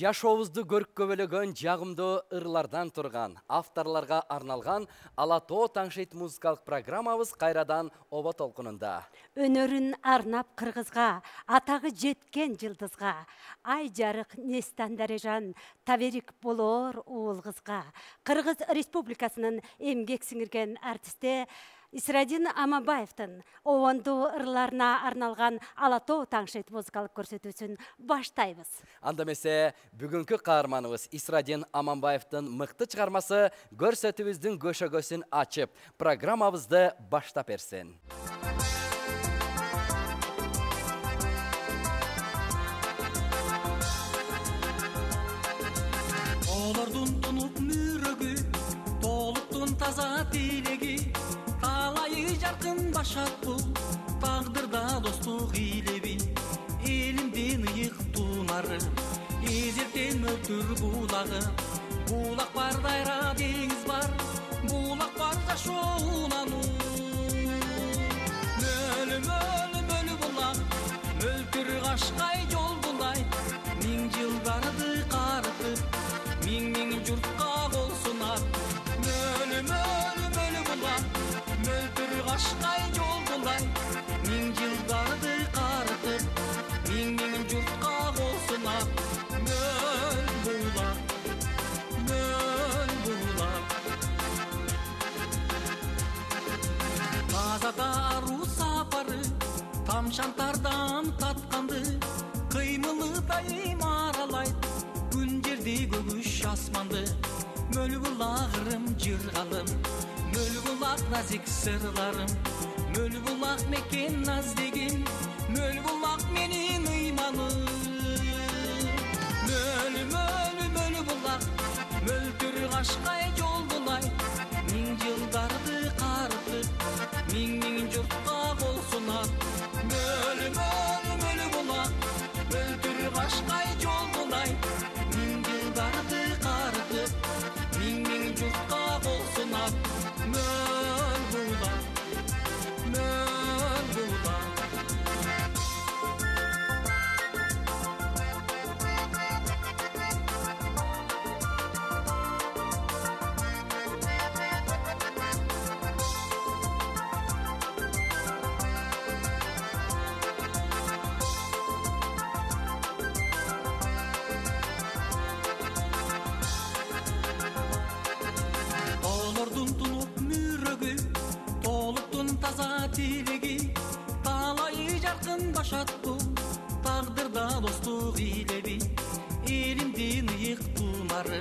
Жашообузду көркөбөлөгөн жагымдуу ырлардан турган, авторлорго арналган Ала тоо таңшейт музыкалык программабыз кайрадан оба толкунунда. Өнөрүн арнап кыргызга, атагы жеткен жылдызга, ай жарык Нестан Дарежан, таберик болоор уул кызга, Кыргыз Республикасынын эмгек сиңирген артисти Исрадин Аманбаевдин обондуу ырларына арналган Ала тоо таңшейт музыкалык көрсөтүүсүн баштайбыз. Анда эмесе бүгүнкү каарманыбыз Исрадин Аманбаевдин мыкты чыгармасы көрсөтүүбүздүн көшөгөсүн ачып, программабызды баштап берсин. Олордун тунуп мүрөгү, толуктун таза тилеги, талайы жаркын башат бул, тагдырда достук илеби. Элимдин ыйык тунары, эзертен мөлтүр булагы, булак бар дайра деңиз бар, булак бар жашоонануу. Мөлү мөлү мөлү булак, мөлтүр кашкай жол булай, миң жылдарды карытып, миң журтка кол сунат. Мөлү мөлү мөлү булак, мөлтүр кашкай жол булай, миң жылдарды карытып, миң журтка кол сунат. Мөл булак, мөл булак, тазада аруу сапары, тамшантардан татканды, кыймылы дайым аралайт, күн жерди көгүш асманды. Мөл булак ырым жыргалым, мөл булак назик сырларым, мөл булак мекен наздегим, мөл булак менин ыйманым. Мөлү мөлү мөлү булак, мөлтүр кашкай жол булай, миң жылдарды карытып, миң журтка кол сунат. Мөлү мөлү мөлү булак, мөлтүр кашкай жол булай, миң жылдарды карытып, миң журтка кол сунат. Мөл булак, мөл булак. Олордун тунуп мүрөгү, толуктун таза тилеги, талайы жаркын башат бул, тагдырда достук илеби. Элимдин ыйык тунары,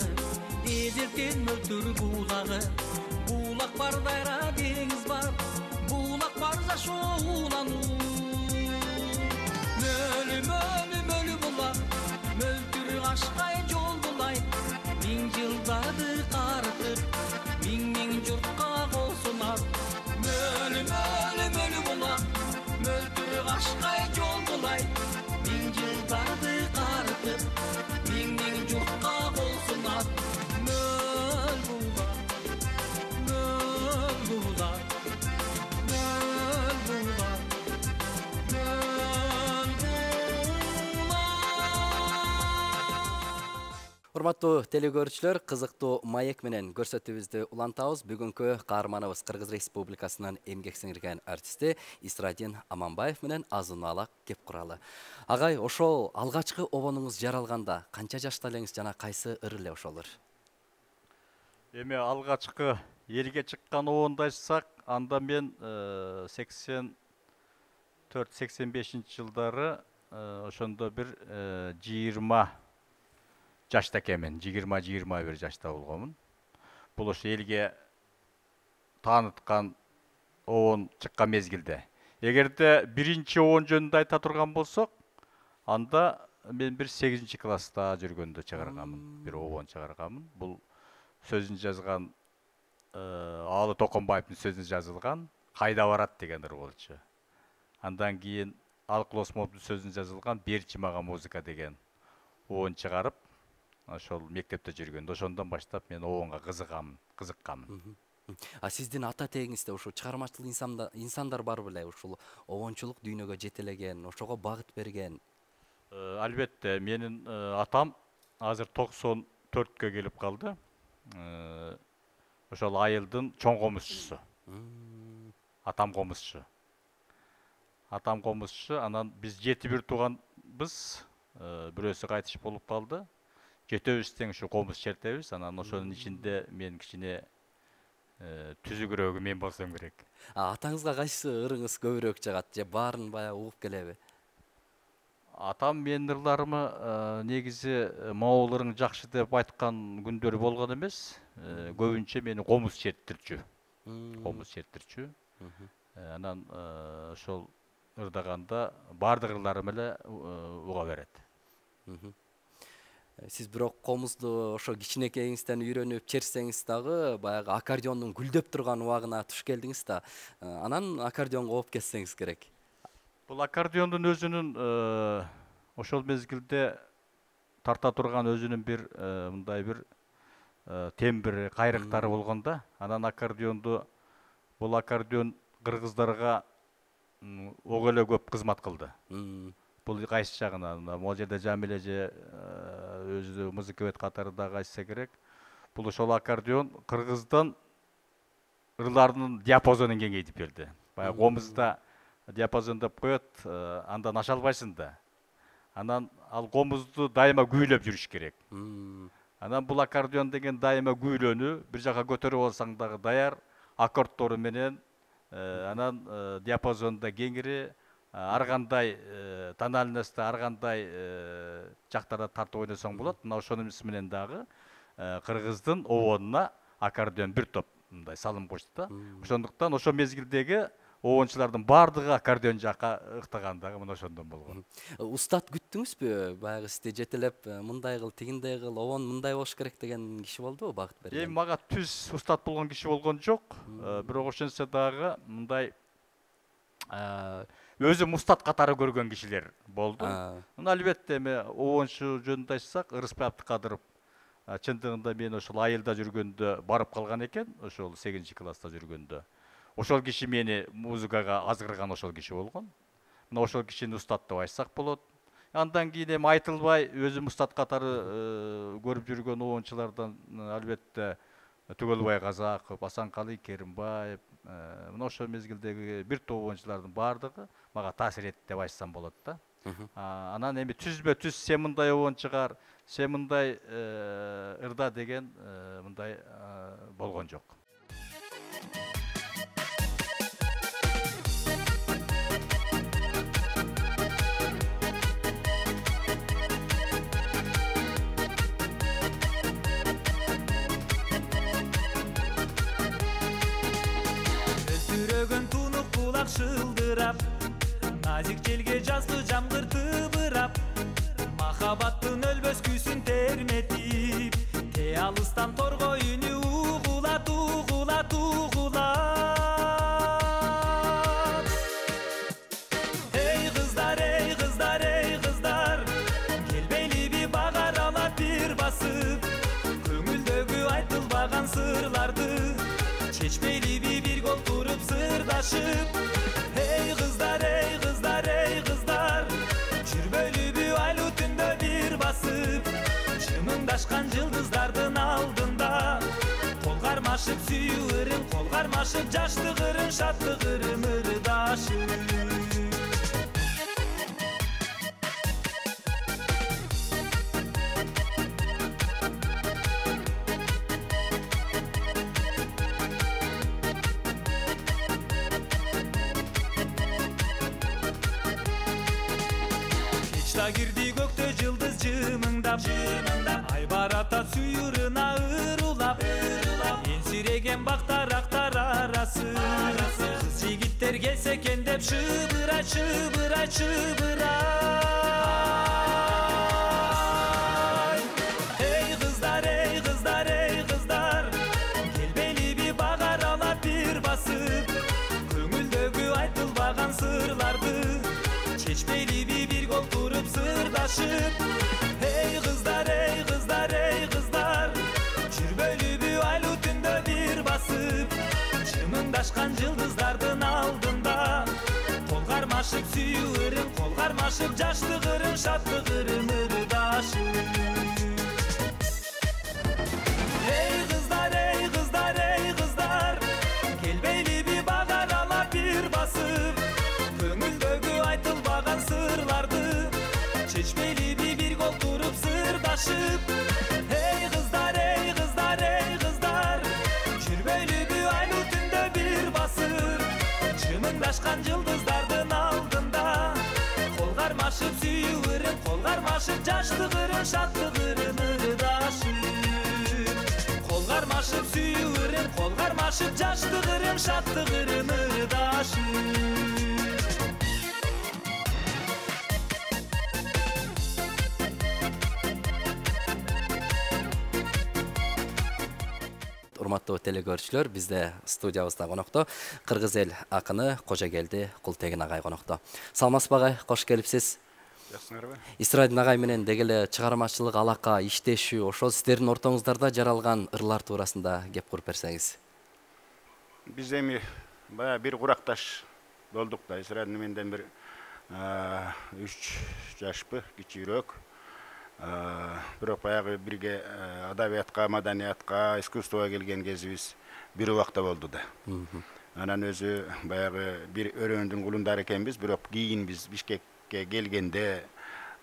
эзертен мөлтүр булагы, булак бар дайра деңиз бар, булак бар жашоонануу. Мөлү мөлү мөлү булак, мөлтүр кашкай жол булай, миң жылдарды карытып, миң журтка кол сунат. Мөлү мөлү мөлү булак, мөлтүр кашкай жол булай, миң жылдарды карытып, миң журтка кол сунат. Мөл булак, мөл булак, мөл булак, мөл булак. Урматтуу телекөрүүчүлөр, кызыктуу маек менен көрсөтүүбүздү улантабыз. Бүгүнкү каарманыбыз Кыргыз Республикасынын эмгек сиңирген артисти Исрадин Аманбаев менен азын аалак кеп куралы. Агай, ошол алгачкы обонуңуз жаралганда канча жашта элеңиз жана кайсы ыр эле ошолор? Эми алгачкы элге чыккан обонду айтсак, анда мен 84-85 жылдары ошондо бир 20 жашта экенмин, 20-21 жашта болгонмун. Бул ошо элге тааныткан обон чыккан мезгилде. Эгерде биринчи обон жөнүндө айта турган болсок, анда мен бир 8-класста жүргөндө чыгарганмын, бир обон чыгарганмын. Бул сөзүн жазган Аалы Токонбаевдин сөзүнө жазылган «Кайда барат» деген ыр болчу. Андан кийин Алкул Осмоновдун сөзүнө жазылган «Берчи мага музыка» деген обон чыгарып, ошол мектепте жүргөндө ошондон баштап мен обонго кызыкканмын. А сиздин ата тегиңизде ушул чыгармачыл инсандар бар беле? Ушул обончулук дүйнөгө жетелеген, ошого багыт берген? Албетте, менин атам азыр 94-кө келип калды. Ошол айылдын чоң комузчусу. Атам комузчу. Анан биз 7 тууганбыз. Бирөөсү кайтыш болуп калды. 7 тең ушу комуз чертебиз. Анан ошонун ичинде мен кичине түзүгүрөөгү мен болсом керек. Атаңызга кайсы ырыңыз көбүрөөк жагат же баарын баягы угуп келеби? Атам менин ырларымы негизи могул ырың жакшы деп айткан күндөрү болгон эмес. Көбүнчө мени комуз черттирчү. Анан ошол ырдаганда баардык ырларым эле уга берет. Сиз бирок комузду ошо кичинекейиңизден үйрөнүп черсеңиз дагы баягы аккордеондун гүлдөп турган убагына туш келдиңиз да. Анан аккордеонго оп кетсеңиз керек. Бул аккордеондун өзүнүн ошол мезгилде тарта турган өзүнүн бир мындай бир тембри, кайрыктары болгон да. Анан бул аккордеон кыргыздарга ого эле көп кызмат кылды. Бул кайсы жагынан, могул жерде Жамиле же өзү музыковед катарында айтса керек. Бул ошол аккордеон кыргыздан ырларынын диапазонун кеңейтип берди. Баягы комузда диапазон деп коет, андан аша албайсың да. Анан ал комузду дайыма күүлөп жүрүш керек. Анан бул аккордеон деген дайыма күүлөнү, бир жака көтөрүп алсаң дагы даяр, аккордтору менен, анан диапазонда кеңири, ар кандай тональностьта, ар кандай жактарда тартып ойносоң болот. Мына ошонун менен дагы кыргыздын обонуна аккордеон бир топ мындай салым кошду да. Ошондуктан ошол мезгилдеги обончулардын баардыгы аккордеон жакка ыктаган дагы мына ошондон болгон. Устат күттүңүзбү? Баягы сизди жетелеп, мындай кыл, тигиндей кыл, обон мындай болуш керек деген киши болдубу, багыт берген? Эми мага түз устат болгон киши болгон жок. Бирок ошентсе дагы мындай өзүм устат катары көргөн кишилер болду. Албетте эми обончу жөнүндө айтсак, Ырыспай Абдыкадыров чындыгында мен ошол айылда жүргөндө барып калган экен, ошол 8-класста жүргөндө. Ошол киши мени музыкага азгырган ошол киши болгон. Мына ошол кишини устат деп айтсак болот. Андан кийин эми айтылбай өзүм устат катары көрүп жүргөн обончулардан албетте Түгөлбай Казаков, Асанкалы Керимбаев, мына ошол мезгилдеги бир топ обончулардын баардыгы мага таасир этти деп айтсам болот да. Анан эми түзбө түз сен мындай обон чыгар, сен мындай ырда деген мындай болгон жок. Шылдырап, назик желге жазгы жамгыр тыбырап, махабаттын өлбөс күйсүн терметип, те алыстан торго үнү угулат, угулат, угулат. Эй кыздар, эй кыздар, эй кыздар, келбейли бага аралап бир басып, көңүлдөгү айтылбаган сырларды, чечмейли бир гол туруп сырдашып. Эй кыздар, эй кыздар, эй кыздар, жүрбөйлүбү айлуу түндө бир басып, жымыңдашкан жылдыздардын алдында, кол кармашып сүйүү ырым, кол кармашып жаштык ырым, шаттык ырым ырдашып. Кирди көктө жылдыз жымыңдап, ай барата сүйүрүна ырулап, энсиреген бактарактар арасы, кыз жигиттер келсе экен деп шыбырай, шыбырай, шыбырай. Эй кыздар, эй кыздар, эй кыздар, келбейли бага аралап бир басып, көңүлдөгү айтылбаган сырларды, чечмейли бир гол туруп сырдашып. Эй кыздар, эй кыздар, эй кыздар, жүрбөйлүбү айлуу түндө бир басып, жымыңдашкан жылдыздардын алдында, кол кармашып сүйүү ырым, кол кармашып жаштык ырым, шаттык ырым ырдашып. чечмелиби бир колтуруп сырдашып. Эй кыздар, эй кыздар, эй кыздар, жүрбөйлүбү айлуу түндө бир басып, жымыңдашкан жылдыздардын алдында кол кармашып сүйүүрүн, кол кармашып жаштыгырын, шаттыгырын ырдашып. Кол кармашып сүйүүрүн, кол кармашып жаштыгырын, шаттыгырын ырдашып. Урматтуу телегөрүүчүлөр, бизде студиябызда конокто кыргыз эл акыны Кожогелди Култегин агай конокто. Саламатсызбы агай, кош келипсиз. Жакшыңарбы? Исрадин агай менен деги эле чыгармачылык алака, иштешүү, ошол сиздердин ортоңуздарда жаралган ырлар туурасында кеп куруп берсеңиз. Биз эми баягы бир куракташ болдук да. Исрадин менден бир 3 жашпы кичүүрөөк. Бирок баягы бирге адабиятка, маданиятка, искусствого келген кезибиз бир убакта болду да. Анан өзү баягы бир өрөөндүн кулундары экенбиз, бирок кийин биз Бишкекке келгенде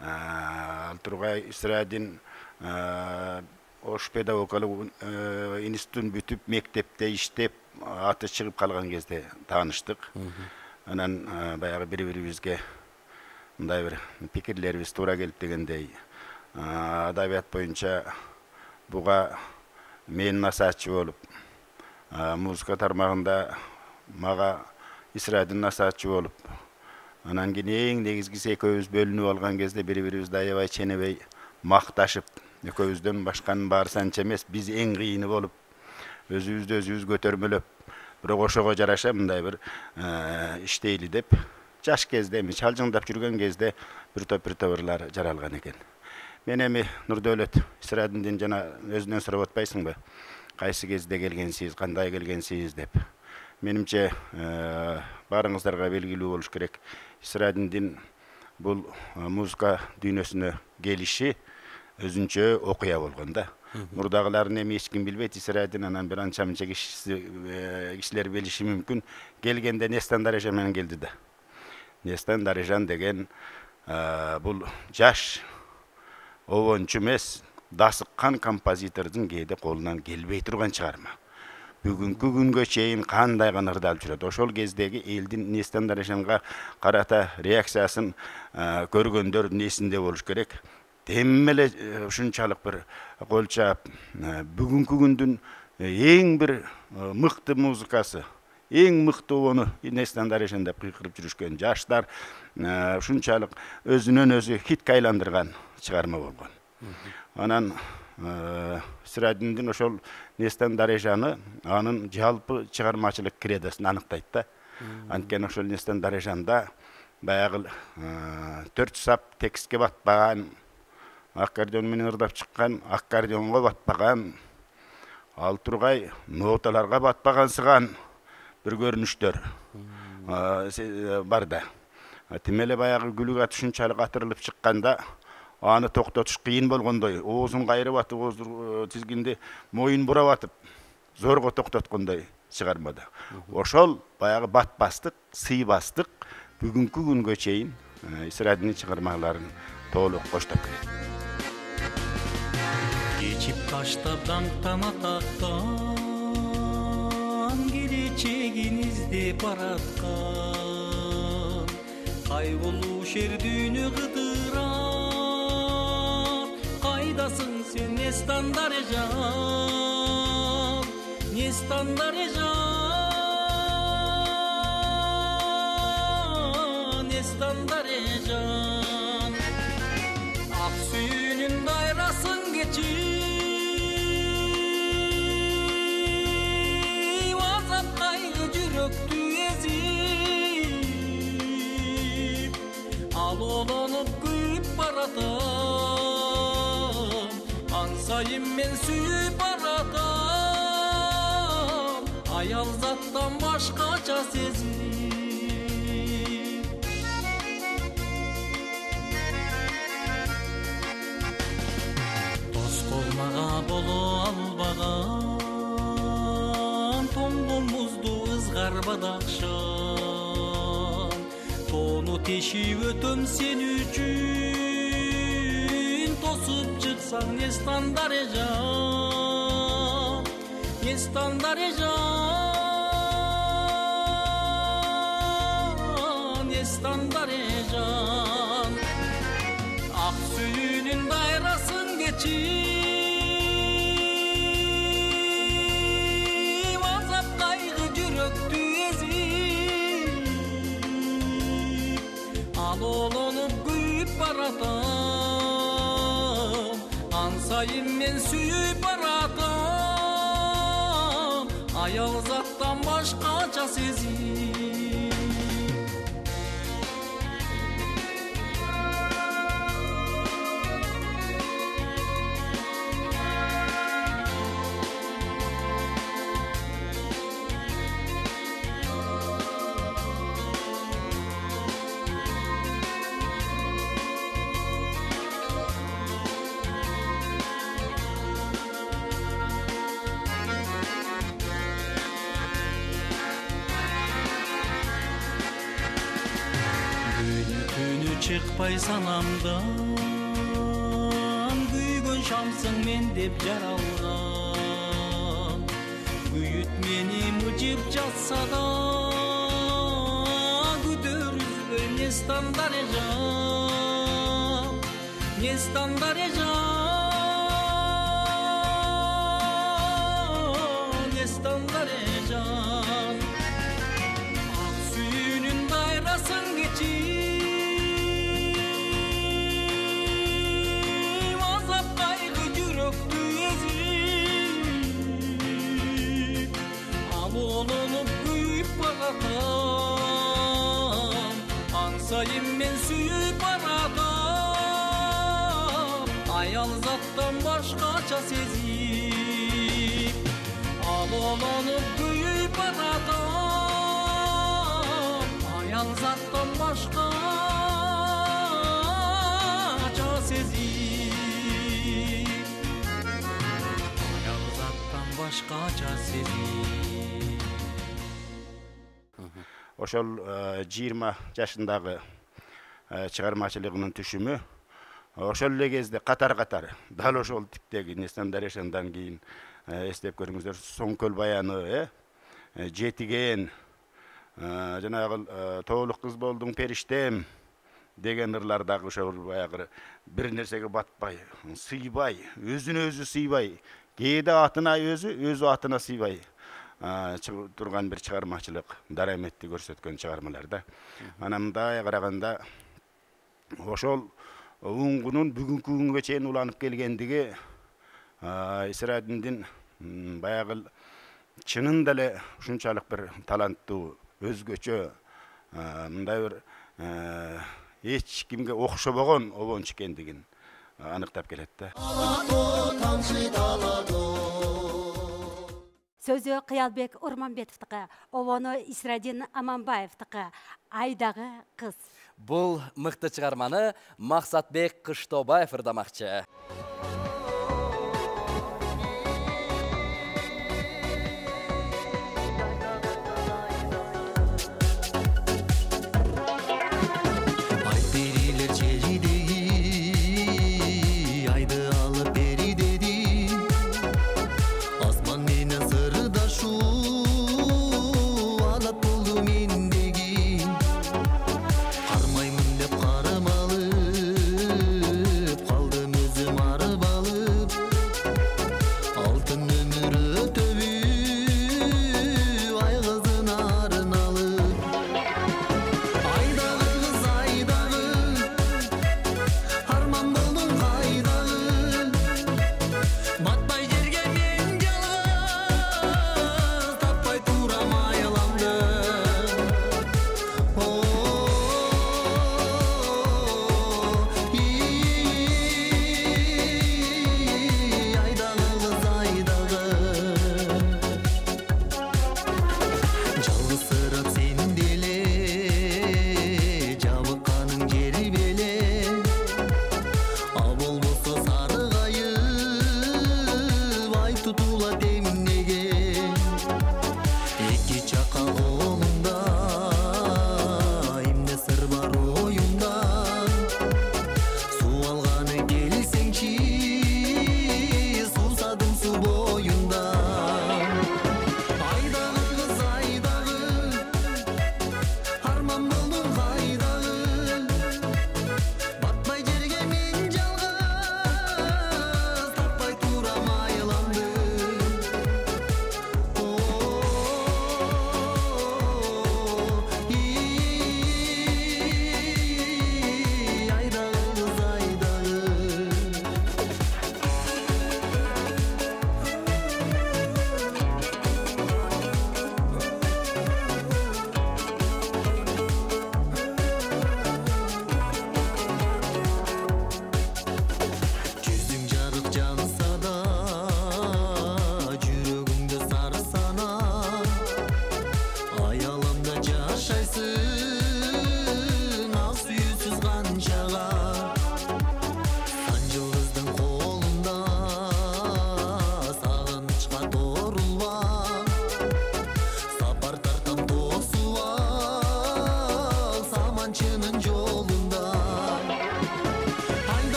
ал тургай Исрадин Ош педагогикалык институтун бүтүп, мектепте иштеп, аты чыгып калган кезде тааныштык. Анан баягы бири-бирибизге мындай бир пикирлерибиз туура келип дегендей, адабият боюнча буга мен насаатчы болуп, музыка тармагында мага Исрадин насаатчы болуп, анан кийин эң негизгиси экөөбүз бөлүнүп алган кезде бири-бирибизди аябай ченебей макташып, экөөбүздөн башканын баары санча эмес, биз эң кыйыны болуп, өзүбүздү өзүбүз көтөрмөлөп, бирок ошого жараша мындай бир иштейли деп, жаш кезде эми чалжыңдап жүргөн кезде бир топ ырлар жаралган экен. Мен эми Нурдөөлөт Исрадиндин жана өзүнөн сурап атпайсыңбы? Кайсы кезде келгенсиз, кандай келгенсиз деп. Менимче баарыңыздарга белгилүү болуш керек. Исрадиндин бул музыка дүйнөсүнө келиши өзүнчө окуя болгон да. Мурдагыларын эми эч ким билбейт. Исрадин анан бир анча-мынча кишилер билиши мүмкүн. Келгенде Нестан Дарежан менен келди да. Нестан Дарежан деген бул жаш обончу эмес, дасыккан композитордун кээде колунан келбей турган чыгарма. Бүгүнкү күнгө чейин кандай гана ырдалып жүрөт. Ошол кездеги элдин Нестан Дарежанга карата реакциясын көргөндөр несинде болуш керек. Теммеле ушунчалык бир кол чаап, бүгүнкү күндүн эң бир мыкты музыкасы, эң мыкты обону Нестан Дарежан деп кыйкырып жүрүшкөн жаштар ушунчалык өзүнөн өзү хитке айландырган чыгарма болгон. Анан Исрадиндин ошол Нестан Дарежаны анын жалпы чыгармачылык кредосын аныктайт да. Анткени ошол Нестан Дарежанда баягы 4 сап текстке батпаган, аккордеон менен ырдап чыккан, аккордеонго батпаган, ал тургай ноталарга батпагансыган бир көрүнүштөр бар да. Тимеле баягы күлүк ат ушунчалык атырылып чыкканда аны токтотуш кыйын болгондой, оозун кайрып атып, ооз тизгинди моюн бурап атып, зорго токтоткондой чыгармада. Ошол баягы батпастык, сыйбастык бүгүнкү күнгө чейин Исрадиндин чыгармаларын толук коштоп келет. Кечип таштап даңктан атактан, келечегин издеп бараткан, кайгылуу шердүүнү кыдырат, кайдасың сен Нестан Дарежан, Нестан Дарежан, Нестан Дарежан, ак сүйүүнүн дайрасын кечип, азап кайгы жүрөктү эзип, ал олонуп күйүп баратам, ансайын мен сүйүп баратам, аял заттан башкача сезим. Тоскоолмага боло албаган, тоңгомузду ызгарбады акшам, тоону тешип өтөм сен үчүн, болсаң нестан дарежан, нестан дарежан, нестан дарежан. Ак сүйүнүн дайрасын кечип, азап кайгы жүрөктү эзип, ал олонуп күйүп баратам, ансайын мен сүйүп баратам, аял заттан башкача сезип. Чыкпай санамдан, күйгөн шамсың мен деп жаралган. Күйүт мени мыжып жатса да, күдөрүзбөй нестан дарежан, нестан дарежан, нестан дарежан. Ак сүйүнүн дайрасын кечип, olonуп күйүп баратам, ансайын мен сүйүп баратам, аял заттан башкача сезип. Ал олонуп күйүп баратам, аял заттан башкача сезип, аял заттан башкача сезип. Ошол 20 жашындагы чыгармачылыгынын түшүмү ошол эле кезде катар-катар дал ошол типтеги нестан дарежандан кийин эстеп көрүңүздөр, Соңкөл баяны, Жетиген, жанагы тоолук кыз болдуң периштем деген ырлар дагы ошол баягы бир нерсеге батпай, сыйбай, өзүнө өзү сыйбай, кээде атына өзү атына сыйбай турган бир чыгармачылык, дараметти көрсөткөн чыгармалар да. Анан мындай караганда ошол уңгунун бүгүнкү күнгө чейин уланып келгендиги Исрадиндин баягы чынында эле ушунчалык бир таланттуу, өзгөчө, мындай бир эч кимге окшобогон обончу экендигин аныктап келет да. Сөзі Кыялбек Урманбетовтікі, обону Исрадин Аманбаевтікі, айдағы қыз. Бұл мықты чыгарманы Максатбек Кыштобаев ырдамакчы. Кармаймын деп кармалып, калдым өзүм арып алып.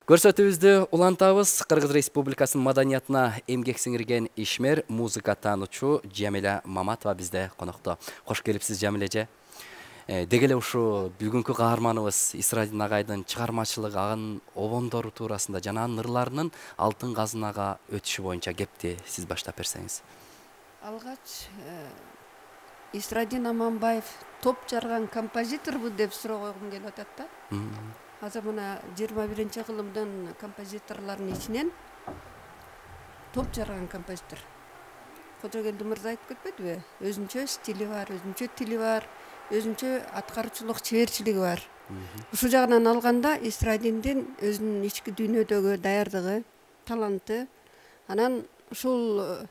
Көрсөтүүбүздү улантабыз. Кыргыз Республикасынын маданиятына эмгек сиңирген ишмер, музыка таануучу Жамиля Маматова бизде конокто. Кош келипсиз, Жамиля эже. Деги эле ушу бүгүнкү каарманыбыз Исрадин агайдын чыгармачылыгы, анын обондору туурасында жана анын ырларынын алтын казынага өтүшү боюнча кепти сиз баштап берсеңиз. Алгач Исрадин Аманбаев топ жарган композиторбу деп суроо койгум келип атат да. Азыр мына 21-кылымдын композиторлорунун ичинен топ жарган композитор. Кожогелди мырза айтып кетпедиби? Өзүнчө стили бар, өзүнчө тили бар, өзүнчө аткаруучулук чеберчилиги бар. Ушул жагынан алганда Исрадиндин өзүнүн ички дүйнөдөгү даярдыгы, таланты, анан ушул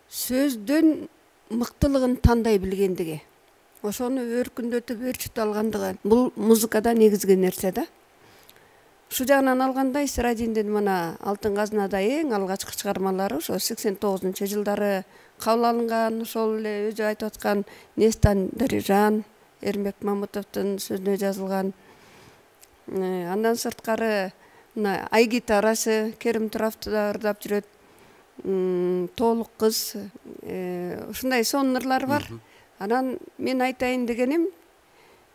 сөздөн мыктылыгын тандай билгендиги, ошону өркүндөтүп өрчүтүп алгандыгы бул музыкада негизги нерсе да. Ушул жагынан алганда Исрадиндин мына Алтын казынада эң алгачкы чыгармалары ошо 89-жылдары кабыл алынган, ошол эле өзү айтып аткан Нестан Дарижан, Эрмек Мамытовдун сөзүнө жазылган. Андан сырткары мына Ай гитарасы Керим Туравды да ырдап жүрөт. Тоолук кыз, ушундай сонун ырлар бар. Анан мен айтайын дегеним,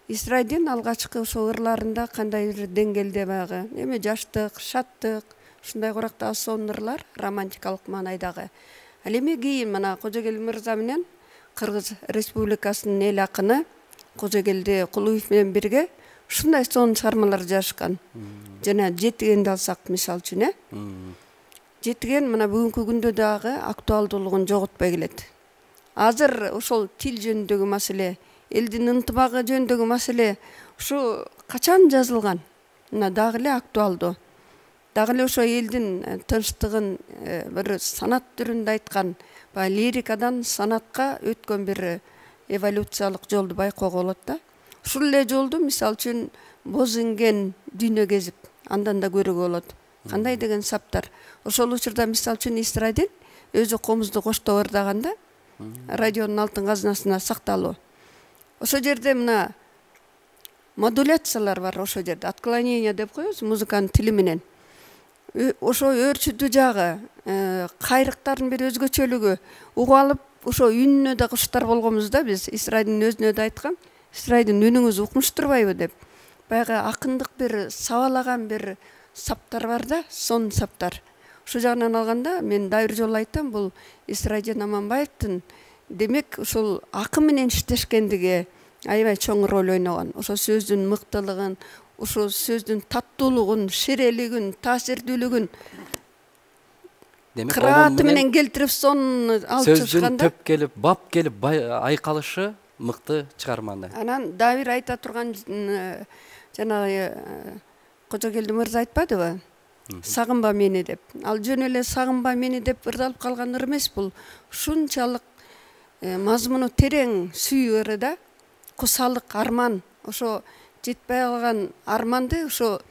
Исрадин алгачкы ошол ырларында кандай бир деңгээлде баягы эме жаштык, шаттык, ушундай курактагы сонун ырлар, романтикалык маанайдагы. Ал эми кийин мына Кожогел мырза менен Кыргыз Республикасынын эл акыны Кожогелди Кулуев менен бирге ушундай сонун чыгармалар жазышкан. Жана Жетигенди алсак мисалы үчүн, Жетиген мына бүгүнкү күндө дагы актуалдуулугун жоготпой келет. Азыр ошол тил жөнүндөгү маселе, элдин ынтымагы жөнүндөгү маселе ушу качан жазылган? Мына дагы эле актуалдуу. Дагы эле ошо элдин тынчтыгын бир санат түрүндө айткан, баягы лирикадан санатка өткөн бир эволюциялык жолду байкоого болот да. Ушул эле жолду мисалы үчүн Боз инген дүйнө кезип, андан да көрүүгө болот. Кандай деген саптар. Ошол учурда мисалы үчүн Исрадин өзү комузду коштоп ырдаганда радионун алтын казынасына сакталуу. Ошол жерде мына модуляциялар бар, ошол жерде отклонение деп коебуз музыканын тили менен. Ошо өрчүдүү жагы, кайрыктардын бир өзгөчөлүгү угуп алып, ошо үнүнө да куштар болгонбуз да биз. Исрадин өзүнө да айткан, Исрадин үнүңүз укмуш турбайбы деп. Баягы акындык бир сабалаган бир саптар бар да, сонун саптар. Ушул жагынан алганда мен дайыр жолу айтам, бул Исрадин Аманбаевдин демек ушул акын менен иштешкендиги аябай чоң роль ойногон. Ошо сөздүн мыктылыгын, ошо сөздүн таттуулугун, ширелигин, таасирдүүлүгүн кырааты менен келтирип сонун алып чыгышканда, сөздүн төп келип, бап келип айкалышы мыкты чыгарманы. Анан дагы бир айта турган жанагы Кожогелди мырза айтпадыбы? Сагынба мени деп. Ал жөн эле сагынба мени деп ырдалып калган ыр эмес бул. Ушунчалык мазмуну терең сүйүү ыры да. Кусалык, арман, ошо жетпей калган арманды ошо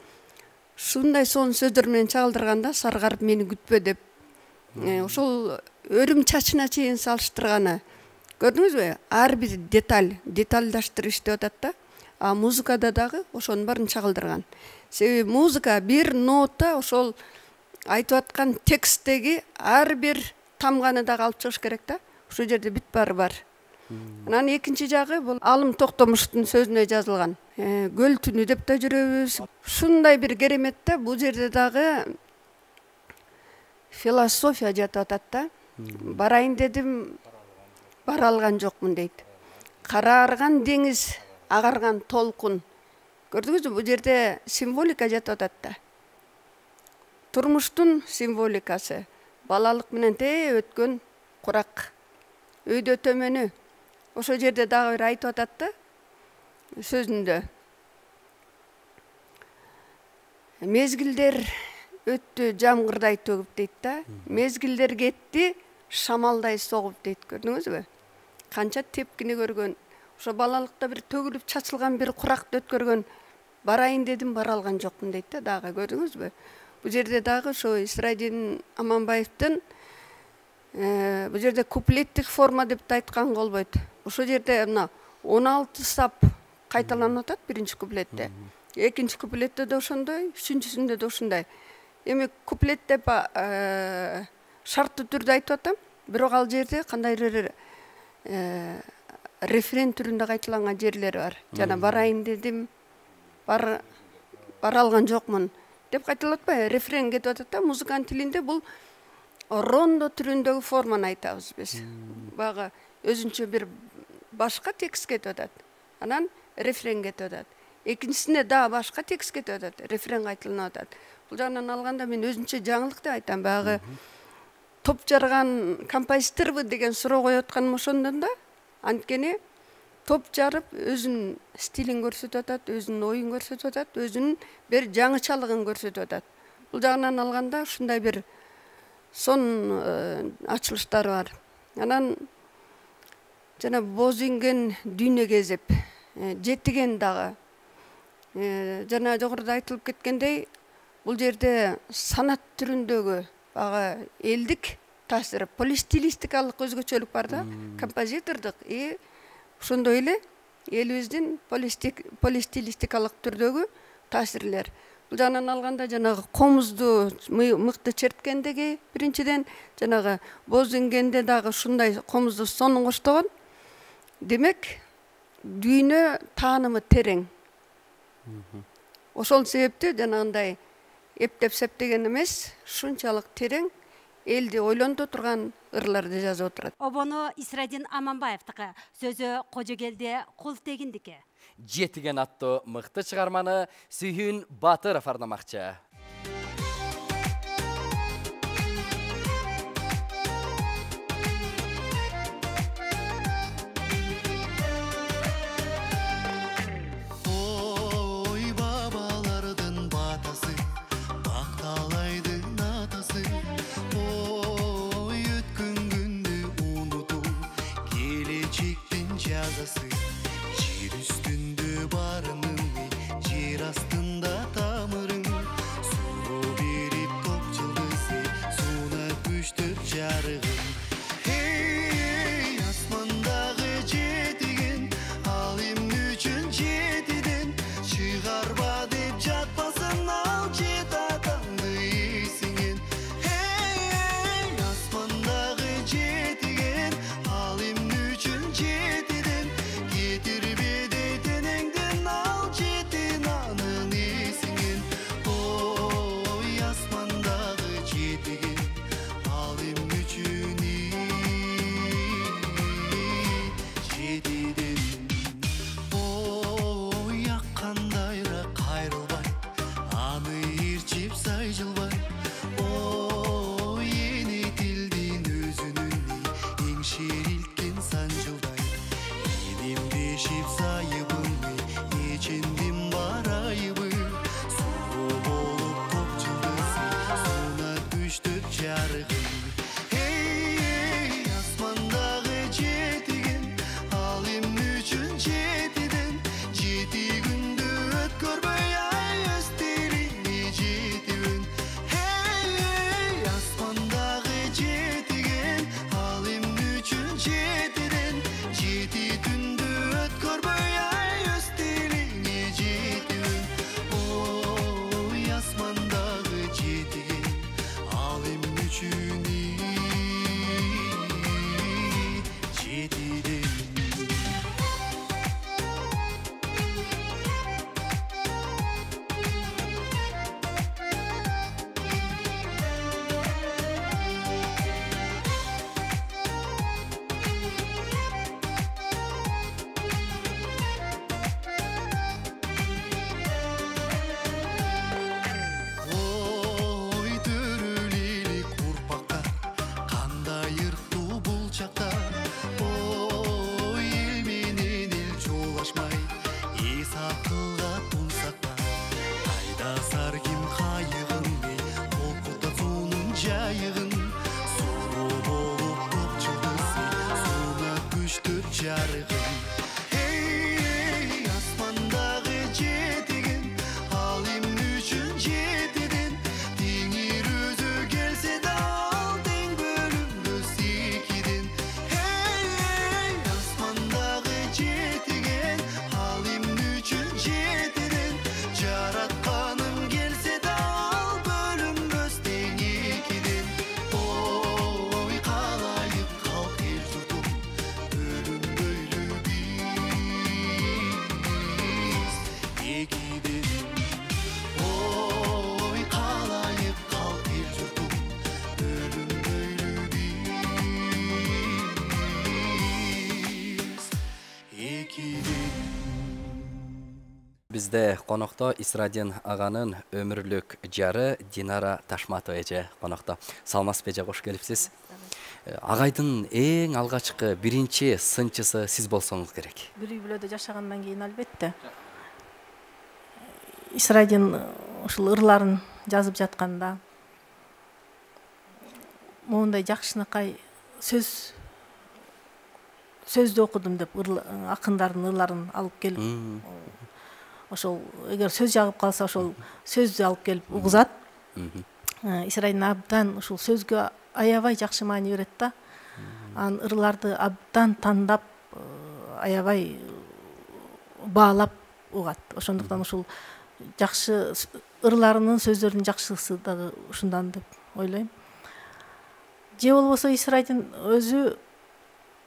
ушундай сонун сөздөр менен чагылдырганда, саргарып мени күтпө деп. Ошол өрүм чачына чейин салыштырганы. Көрдүңүзбү? Ар бир детальдаштырып иштеп атат да. А музыкада дагы ошонун баарын чагылдырган. Себеби музыка бир нота ошол айтып аткан тексттеги ар бир тамганы дагы алып чыгыш керек да. Ушул жерде бүт баары бар. Анан экинчи жагы бул Алым Токтомуштун сөзүнө жазылган. Көл түнү деп да жүрөбүз. Ушундай бир керемет да, бул жерде дагы философия жатып атат да. Барайын дедим, бара алган жокмун дейт. Караарган деңиз, агарган толкун. Көрдүңүзбү? Бул жерде символика жатып атат да. Турмуштун символикасы, балалык менен өткөн курак, өйдө төмөнү. Ошол жерде дагы бир айтып атат да сөзүндө. Мезгилдер өттү жамгырдай төгүп дейт да. Мезгилдер кетти шамалдай согуп дейт. Көрдүңүзбү? Канча тепкини көргөн. Ошо балалыкта бир төгүлүп чачылган бир куракты өткөргөн. Барайын дедим, бара алган жокмун дейт да дагы. Көрдүңүзбү? Бул жерде дагы ошо Исрадин Аманбаевдин бул жерде куплеттик форма деп да айтканга болбойт. Ошол жерде мына 16 сап кайталанып атат биринчи куплетте. Экинчи куплетте да ошондой, үчүнчүсүндө да ошондой. эми куплет деп шарттуу түрдө айтып атам, бирок ал жерде кандайдыр рефрен түрүндө кайталанган жерлери бар. Жана барайын дедим, бара алган жокмун деп кайталап атпайбы? Рефрен кетип атат да, музыканын тилинде бул рондо түрүндөгү форманы айтабыз биз. Баягы өзүнчө бир башка текст кетип атат. Анан рефрен кетип атат. Экинчисинде дагы башка текст кетип атат, рефрен кайталанып атат. Бул жагынан алганда мен өзүнчө жаңылык деп айтам. Баягы топ жарган композиторбу деген суроо коюп атканым ошондон да. Анткени топ жарып өзүнүн стилин көрсөтүп атат, өзүнүн оюн көрсөтүп атат, өзүнүн бир жаңычалыгын көрсөтүп атат. Бул жагынан алганда ушундай бир сон ачылыштары бар. Анан жана боз инген дүйнө кезип, жетиген дагы. Жана жогоруда айтылып кеткендей, бул жерде санат түрүндөгү баягы элдик таасир, полистилистикалык өзгөчөлүк бар да, композитордук ошондой эле элибиздин полистилистикалык түрдөгү таасирлер. Бул жагынан алганда жанагы комузду мыкты черткендеги биринчиден, жанагы боз ингенде дагы ушундай комузду сонун коштогон. Демек, дүйнө таанымы терең. Ошол себептен жанагындай эптеп септеген эмес, шунчалык терең, элди ойлонто турган ырларды жазып отурат. Обону Исрадин Аманбаевдики, сөзү Кожогелде Култегиндики. Жетиген аттуу мыкты чыгарманы Сүйүн Батыров арнамакчы. Жер үстүндө барының, жер астында тамырың, суу берип топ жылдызы, суна күчтөр жарыгын. Эй, асмандагы жетиген, ал эмне үчүн жетиден, чыгарба деп жатпасын ал жет атаңды эсиңен. Эй, асмандагы жетиген, ал эмне үчүн жетиден, бизде конокто Исрадин аганын өмүрлүк жары Динара Ташматова эже конокто. Саламатсызбы эже, кош келипсиз. Агайдын эң алгачкы биринчи сынчысы сиз болсоңуз керек. Бир үй бүлөдө жашагандан кийин албетте. Исрадин ушул ырларын жазып жатканда моундай жакшынакай сөздү окудум деп акындардын ырларын алып келип, ошол эгер сөз жагып калса ошол сөздү алып келип угузат. Исрадин абдан ушул сөзгө аябай жакшы маани берет да. Анын ырларды абдан тандап, аябай баалап угат. Ошондуктан ушул жакшы ырларынын, сөздөрүнүн жакшысы дагы ушундан деп ойлойм. Же болбосо Исрадин өзү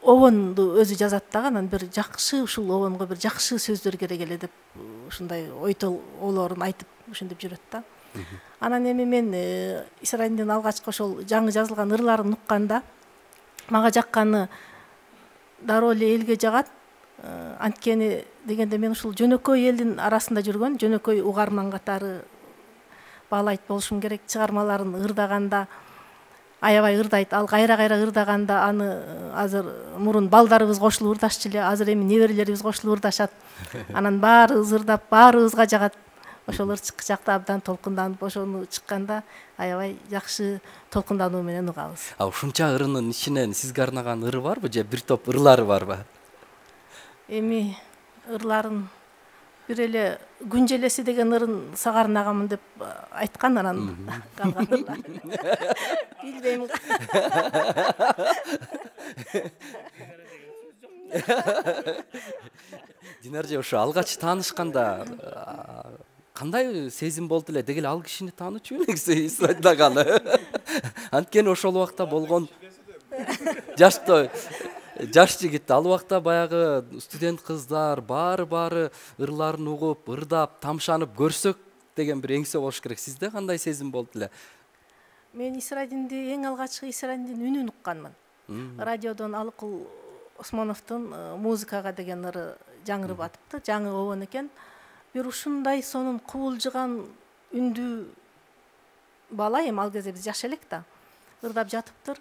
обонду өзү жазат дагы, анан бир жакшы ушул обонго бир жакшы сөздөр керек эле деп ушундай ойлорун айтып ушинтип жүрөт да. Анан эми мен Исрадиндин алгачкы ошол жаңы жазылган ырларын укканда мага жакканы дароо эле элге жагат. Анткени дегенде мен ушул жөнөкөй элдин арасында жүргөн, жөнөкөй угарман катары баалайт болушум керек. Чыгармаларын ырдаганда аябай ырдайт. Ал кайра-кайра ырдаганда аны азыр мурун балдарыбыз кошулуп ырдашчу эле, азыр эми неберелерибиз кошулуп ырдашат. Анан баарыбыз ырдап, баарыбызга жагат. Ошол ырчыкы жакта абдан толкунданып, ошону чыкканда аябай жакшы толкундануу менен угабыз. Ушунча ырынын ичинен сизге арнаган ыры барбы же бир топ ырлары барбы? Эми ырларын бир эле күн желеси деген ырын сага арнагамын деп айткан, анан калган ырлар билбейм. Динар же ошо алгач таанышканда кандай сезим болду эле? Деги эле ал кишини таанычу элеңиз Исрадин аганы. Анткени ошол убакта болгон жаш жигит, ал убакта баягы студент кыздар баары ырларын угуп, ырдап, тамшанып көрсөк деген бир эңсе болуш керек. Сизде кандай сезим болду эле? Мен Исрадинди эң алгачкы Исрадиндин үнүн укканмын. Радиодон Алыкул Осмоновдун музыкага деген ыры жаңырып атыптыр, жаңы обон экен. Бир ушундай сонун кубулжуган үндүү бала, эми ал кезде биз жаш элек да, ырдап жатыптыр.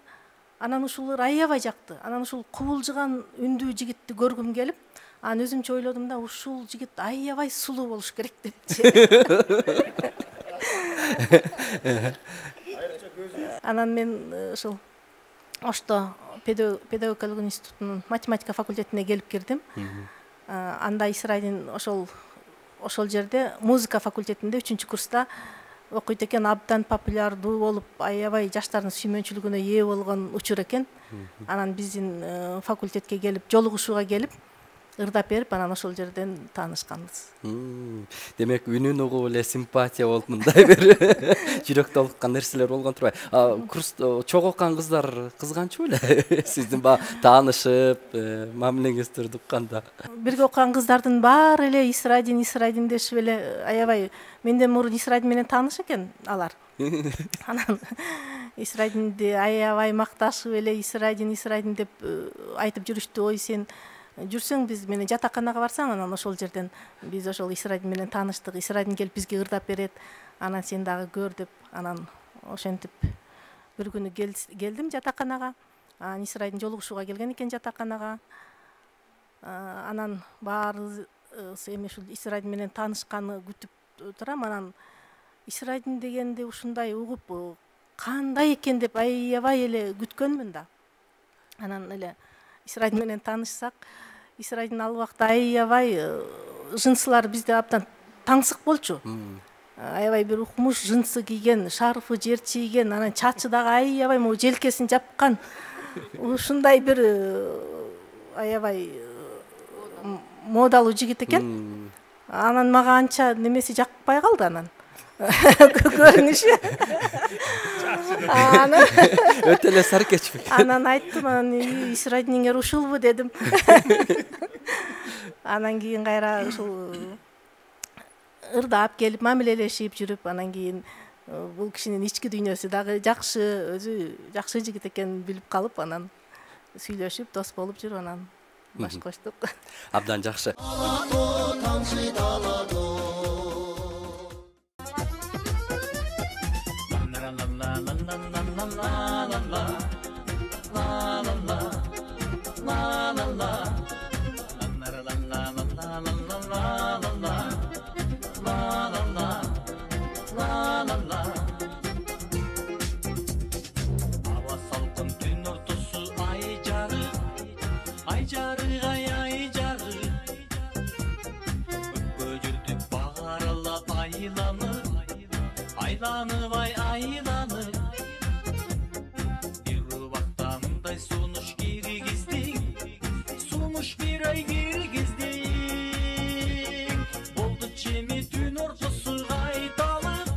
Анан ушул ыр аябай жакты. Анан ушул кубулжуган үндүү жигитти көргүм келип, анан өзүмчө ойлодум да, ушул жигит аябай сулуу болуш керек депчи. Анан мен ушул Ошто педагогикалык институтунун математика факультетине келип кирдим. Анда Исрадин ошол жерде музыка факультетинде 3-курста окуйт экен. Абдан популярдуу болуп, аябай жаштардын сүймөнчүлүгүнө ээ болгон учур экен. Анан биздин факультетке келип, жолугушууга келип, ырдап берип, анан ошол жерден таанышканбыз. Демек үнүн угуп эле симпатия болуп мындай бир жүрөктө олуккан нерселер болгон турбайбы? Курста чогуу окуган кыздар кызганчу беле сиздин баягы таанышып, мамилеңиздерди укканда? Бирге окуган кыздардын баары эле Исрадин дешип эле, аябай менден мурун Исрадин менен тааныш экен алар. Анан Исрадинди аябай макташып эле Исрадин деп айтып жүрүштү. Ой, сен жүрсөң биз менен жатаканага барсаң, анан ошол жерден биз ошол Исрадин менен тааныштык. Исрадин келип бизге ырдап берет, анан сен дагы көр деп, анан ошентип бир күнү келдим жатаканага. Анан Исрадин жолугушууга келген экен жатаканага. Анан баарыбыз эми ушул Исрадин менен таанышканы күтүп турам. Анан Исрадин дегенди ушундай угуп кандай экен деп аябай эле күткөнмүн да. Анан эле Исрадин менен таанышсак, Исрадин ал убакта аябай жынсылар бизде абдан таңсык болчу. Аябай бир укмуш жынсы кийген, шарфы жер чийген, анан чачы дагы аябай могу желкесин жапкан. Ушундай бир аябай модалуу жигит экен. Анан мага анча немеси жакпай калды анан. Көрүнүшү. Өтө эле саркечпи. Анан айттым, анан Исрадиниңер ушулбу дедим. Анан кийин кайра ушул ырдап келип, мамилелешип жүрүп, анан кийин бул кишинин ички дүйнөсү дагы жакшы, өзү жакшы жигит экенин билип калып, анан сүйлөшүп, дос болуп жүрүп, анан баш коштук. Абдан жакшы. ай жарык ай жарык көккө жүрдүк бааралап айланып ай айланып бир убакта мындай сунуш киргиздиң болду чеми түн ортосу кайталып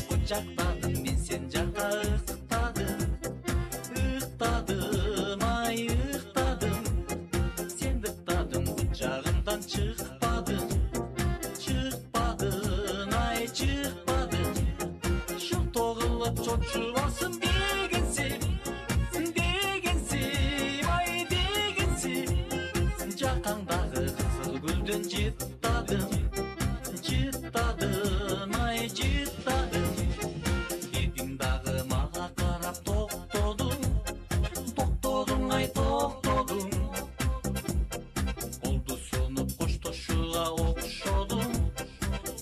кучактадым мен сен жакка ыктадым ай ыктадым сен ыктадың кучагымдан чыкпадың ай чыкпадың шылтоо кылып чочубасын дегенсиң ай дегенсиң жакаңдагы кызыл гүлдөн жыттадым ай жыттадым бирдиң дагы мага карап токтодуң ай токтодуң колду сунуп коштошууга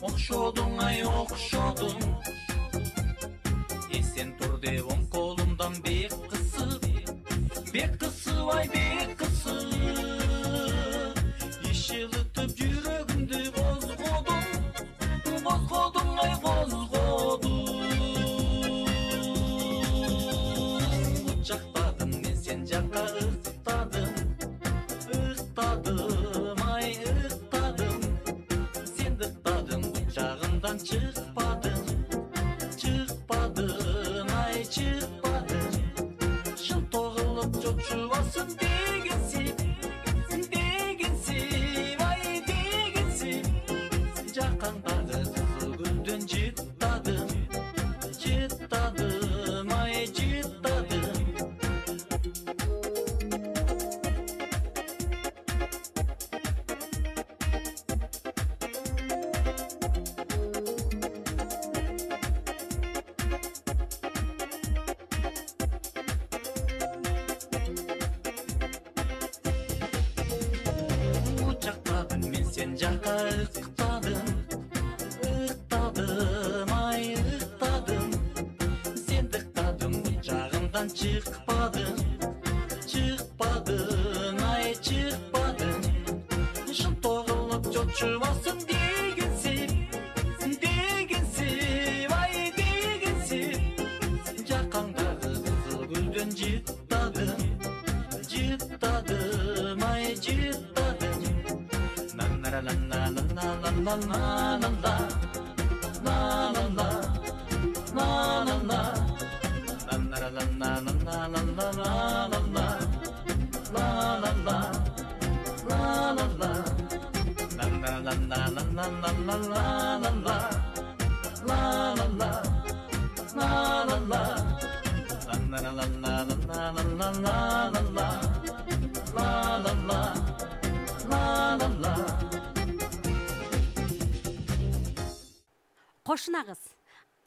окшодуң ай окшодуң эсен тур деп оң колумдан бек кысып ай бек кысып иш жылытып жүрөгүмдү козгодуң ай козгодуң кучактадым мен сен жакка ыктадым ай ыктадым сен ыктадың кучагымдан чыкпадың ай чыкпадың шылтоо кылып чочубасын дегенсиң ай дегенсиң жакаңдагы кызыл гүлдөн жыттадым ай жыттадым кучактадым мен сен жакка ыктадым ай ыктадым сен ыктадың кучагымдан чыкпадың ай чыкпадың шылтоо кылып чочубасын дегенсиң ай дегенсиң жакаңдагы кызыл гүлдөн жыттадым ай жыттадым Кошунагыз.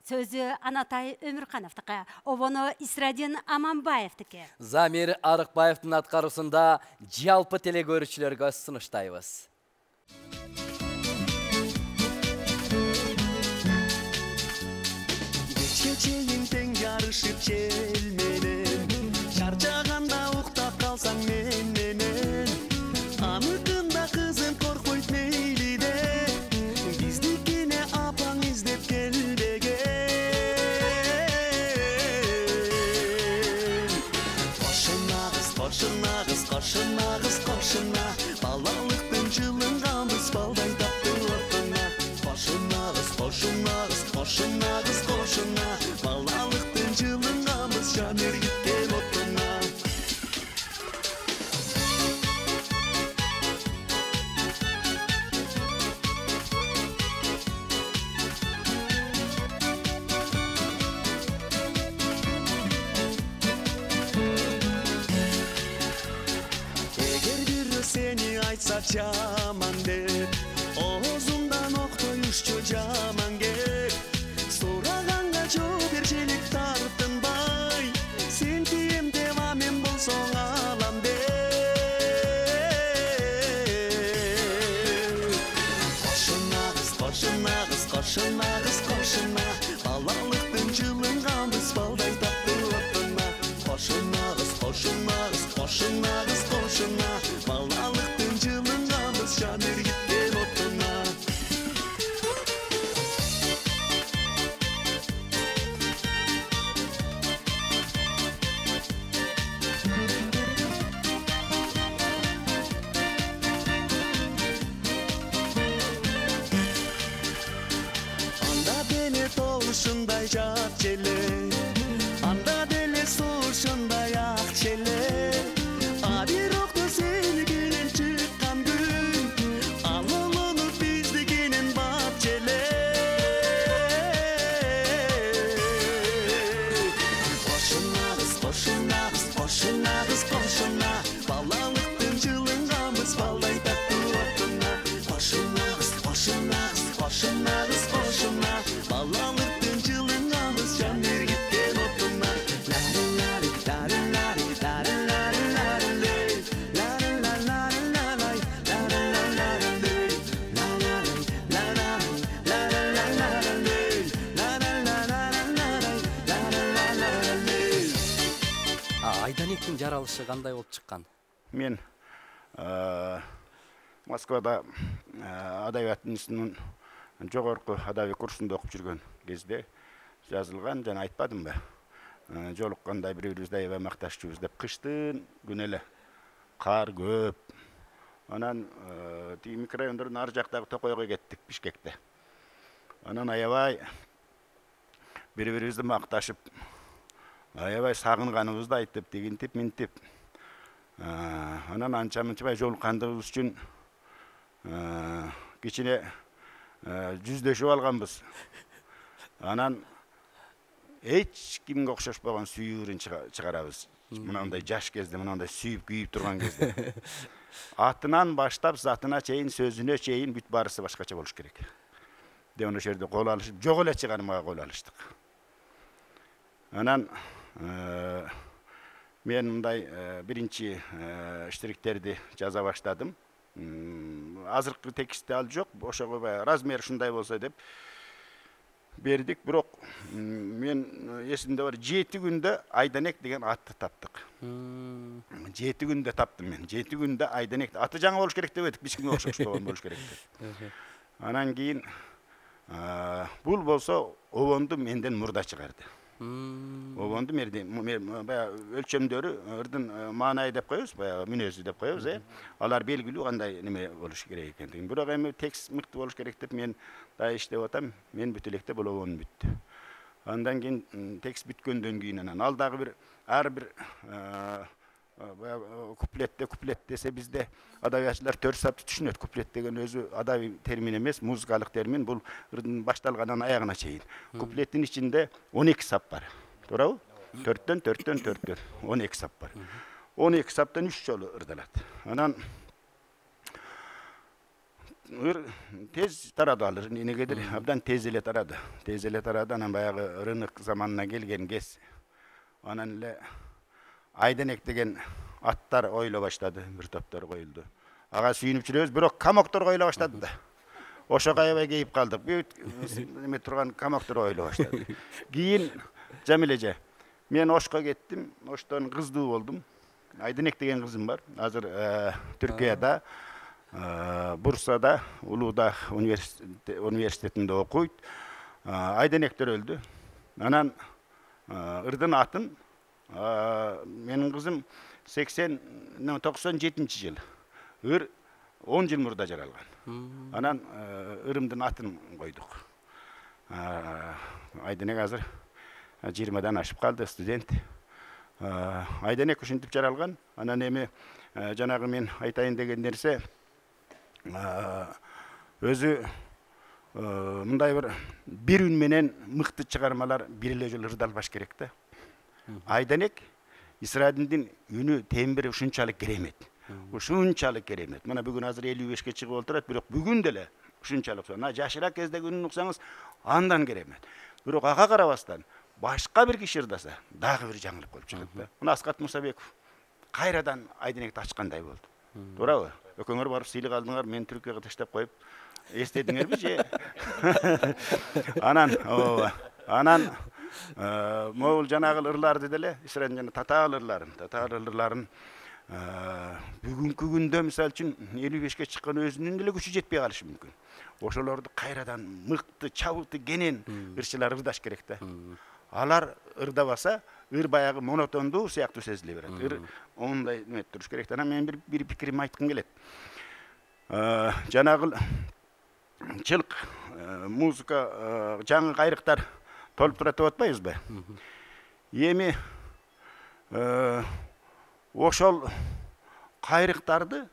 Сөзү Анатай Өмүркановдука, обону Исрадин Аманбаевдики. Замир Арыкбаевдин аткаруусунда жалпы телекөрүүчүлөргө сунуштайбыз. Кечке чейин тең жарышып жел менен, чарчаганда уктап калсаң мен менен, аныкында кызым коркпойт мейли де, биздикине апаң издеп келбеген. Кошунагыз, балалыктын жылынганбыз балдай тапты отуна. Кошунагыз, балалыктын жылынганбыз жан эргиткен отуна. Seni айтса жаман деп, оозундан октоюшчу жаман кеп, сураганга жооп берчилик тартынбай, сен тием деп мен болсоң алам деп. Кошунагыз, балалыктын жылынга ушундай жакчы эле анда деле ушундай акчы эле а бирокто сеникинен чыккан күн ал улунуп биздикинен бакчы эле кошунабыз кошунабыз кошунабыз кошуна балалыктын жылынганбыз балдай таттуу отуна кошунабыз кошунабыз кошунабыз кошуна балалыктын жылынганбыз жан бергиткен отуна Айданектин жаралышы кандай болуп чыккан? Мен Москвада адабият институтунун жогорку адабий курсунда окуп жүргөн кезде жазылган, жана айтпадым ба? Жолукканда бири-бирибизди аябай макташчубуз деп, кыштын күнү эле кар көп. Анан тиги микрорайондордун ар жактагы Токойго кеттик, Бишкекте. Анан аябай бири-бирибизди макташып, аябай сагынганыбызды айтып, дегинтип, минтип. Анан анча-мынча жолуккандыгыбыз үчүн кичине жүздөшүп алганбыз. Анан эч кимге окшошпогон сүйүүрүн чыгарабыз. Мынандай жаш кезде, мынандай сүйүп күйүп турган кезде. Атынан баштап, затына чейин, сөзүнө чейин бүт баарысы башкача болуш керек. Деп ошол жерде кол алышып, жок эле чыгармага кол алыштык. Анан мен мындай биринчи штириктерди жаза баштадым. Азыркы текстте ал жок, ошого размер ушундай болсо деп бердик, бирок мен эсимде бар, 7 күндө Айданек деген атты таптык. 7 күндө таптым мен. 7 күндө Айданек аты жаңы болуш керек деп эдик, эч кимге окшошпогон болуш керек деп. Анан кийин бул болсо обонду менден мурда чыгарды. Обонду баягы өлчөмдөрү ырдын маанайы деп коебуз, баягы мүнөзү деп коебуз, алар белгилүү кандай неме болуш керек экендигин. Бирок эми текст мыкты болуш керек деп мен да иштеп атам, мен бүтө электе бул обон бүттү. Андан кийин текст бүткөндөн кийин анан ал дагы бир ар бир куплет десе бизде адабиятчылар 4 сапты түшүнөт. Куплет деген өзү адабий термин эмес, музыкалык термин. Бул ырдын башталгандан аягына чейин. Куплеттин ичинде 12 сап бар. Туурабы? 4төн 12 сап бар. 12 саптан 3 жолу ырдалат. Анан тез тарады ал, негедир абдан тез эле тарады. Тез эле тарады, анан баягы рынок заманына келген кез. Анан эле Айданек деген аттар ойло баштады, бир топтор коюлду. Ага сүйүнүп жүрөбүз, бирок камоктор коюла баштады да. Ошого аябай кейип калдык. Эме турган камоктор ойло баштады. Кийин Жамиле эже, мен Ошко кеттим, Оштон кыздуу болдум. Айданек деген кызым бар. Азыр Түркияда, Бурсада, Улуудах университетинде окуйт. Айданектер өлдү. Анан ырдын атын менин кызым 97 жыл. Ыр 10 жыл мурда жаралган. Анан ырымдын атын койдук. Айданек азыр 20дан ашып калды, студент. Айданек ушинтип жаралган. Анан эми жанагы мен айтайын деген нерсе өзү мындай бир үн менен мыкты чыгармалар бир эле жолу ырдалбаш керек да. Айданек Исрадиндин үнү тембри ушунчалык керемет. Ушунчалык керемет. Мына бүгүн азыр 55-ке чыгып отурат, бирок бүгүн деле ушунчалык. Жашыраак кездеги үнүн уксаңыз андан керемет. Бирок ага карабастан башка бир киши ырдаса дагы бир жаңылык болуп чыгат да. Мына Аскат Мусабеков кайрадан Айданекти ачкандай болду. Туурабы? Экөөңөр барып сыйлык алдыңар, мен Түркияга таштап коюп эстедиңерби же? Анан могул жанагы ырларды деле, Исрадин жана татаал ырларын бүгүнкү күндө мисалы үчүн 55-ке чыккан өзүнүн деле күчү жетпей калышы мүмкүн. Ошолорду кайрадан мыкты, чабыты, кенен ырчылар ырдаш керек да. Алар ырдабаса, ыр баягы монотондуу сыяктуу сезиле берет. Ыр ондай эме туруш керек. Анан мен бир пикирим айткым келет. Жанагы чылк музыка жаңы кайрыктар толуп турат деп атпайбызбы? Эми ошол кайрыктарды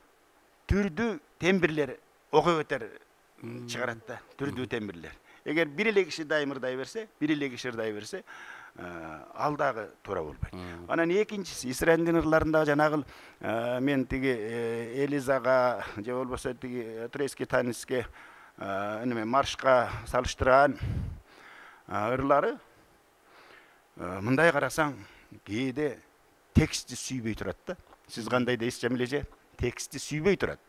түрдүү тембирлер окуп өтөр чыгарат да, түрдүү тембирлер. Эгер бир эле киши дайым ырдай берсе, ал дагы туура болбойт. Анан экинчиси эсрадин ырларында жанагы мен тиги Элизага же болбосо тиги турецкий танецке неме маршка салыштырган ырлары мындай карасаң кээде текстти сүйбөй турат да. Сиз кандай дейсиз Жамиле эже? Текстти сүйбөй турат.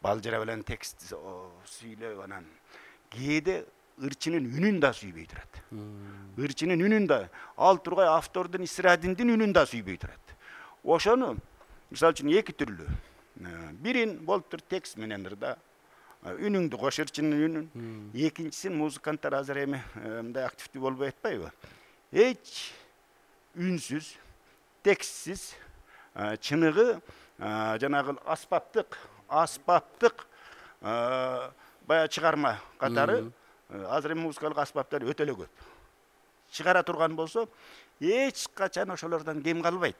Балжыра менен текстти сүйлөп анан кээде ырчынын үнүн да сүйбөй турат. Ырчынын үнүн да, ал тургай автордун эсрадиндин үнүн да сүйбөй турат. Ошону мисалы үчүн эки түрлүү. Бирин болуп тур текст менен ырда үнүңдү кош, ырчынын үнүн. Экинчисин музыканттар азыр эми мындай активдүү болбой атпайбы? Эч үнсүз, текстсиз, чыныгы жанагы аспаптык бая чыгарма катары азыр эми музыкалык аспаптар өтө эле көп. Чыгара турган болсо, эч качан ошолордон кем калбайт.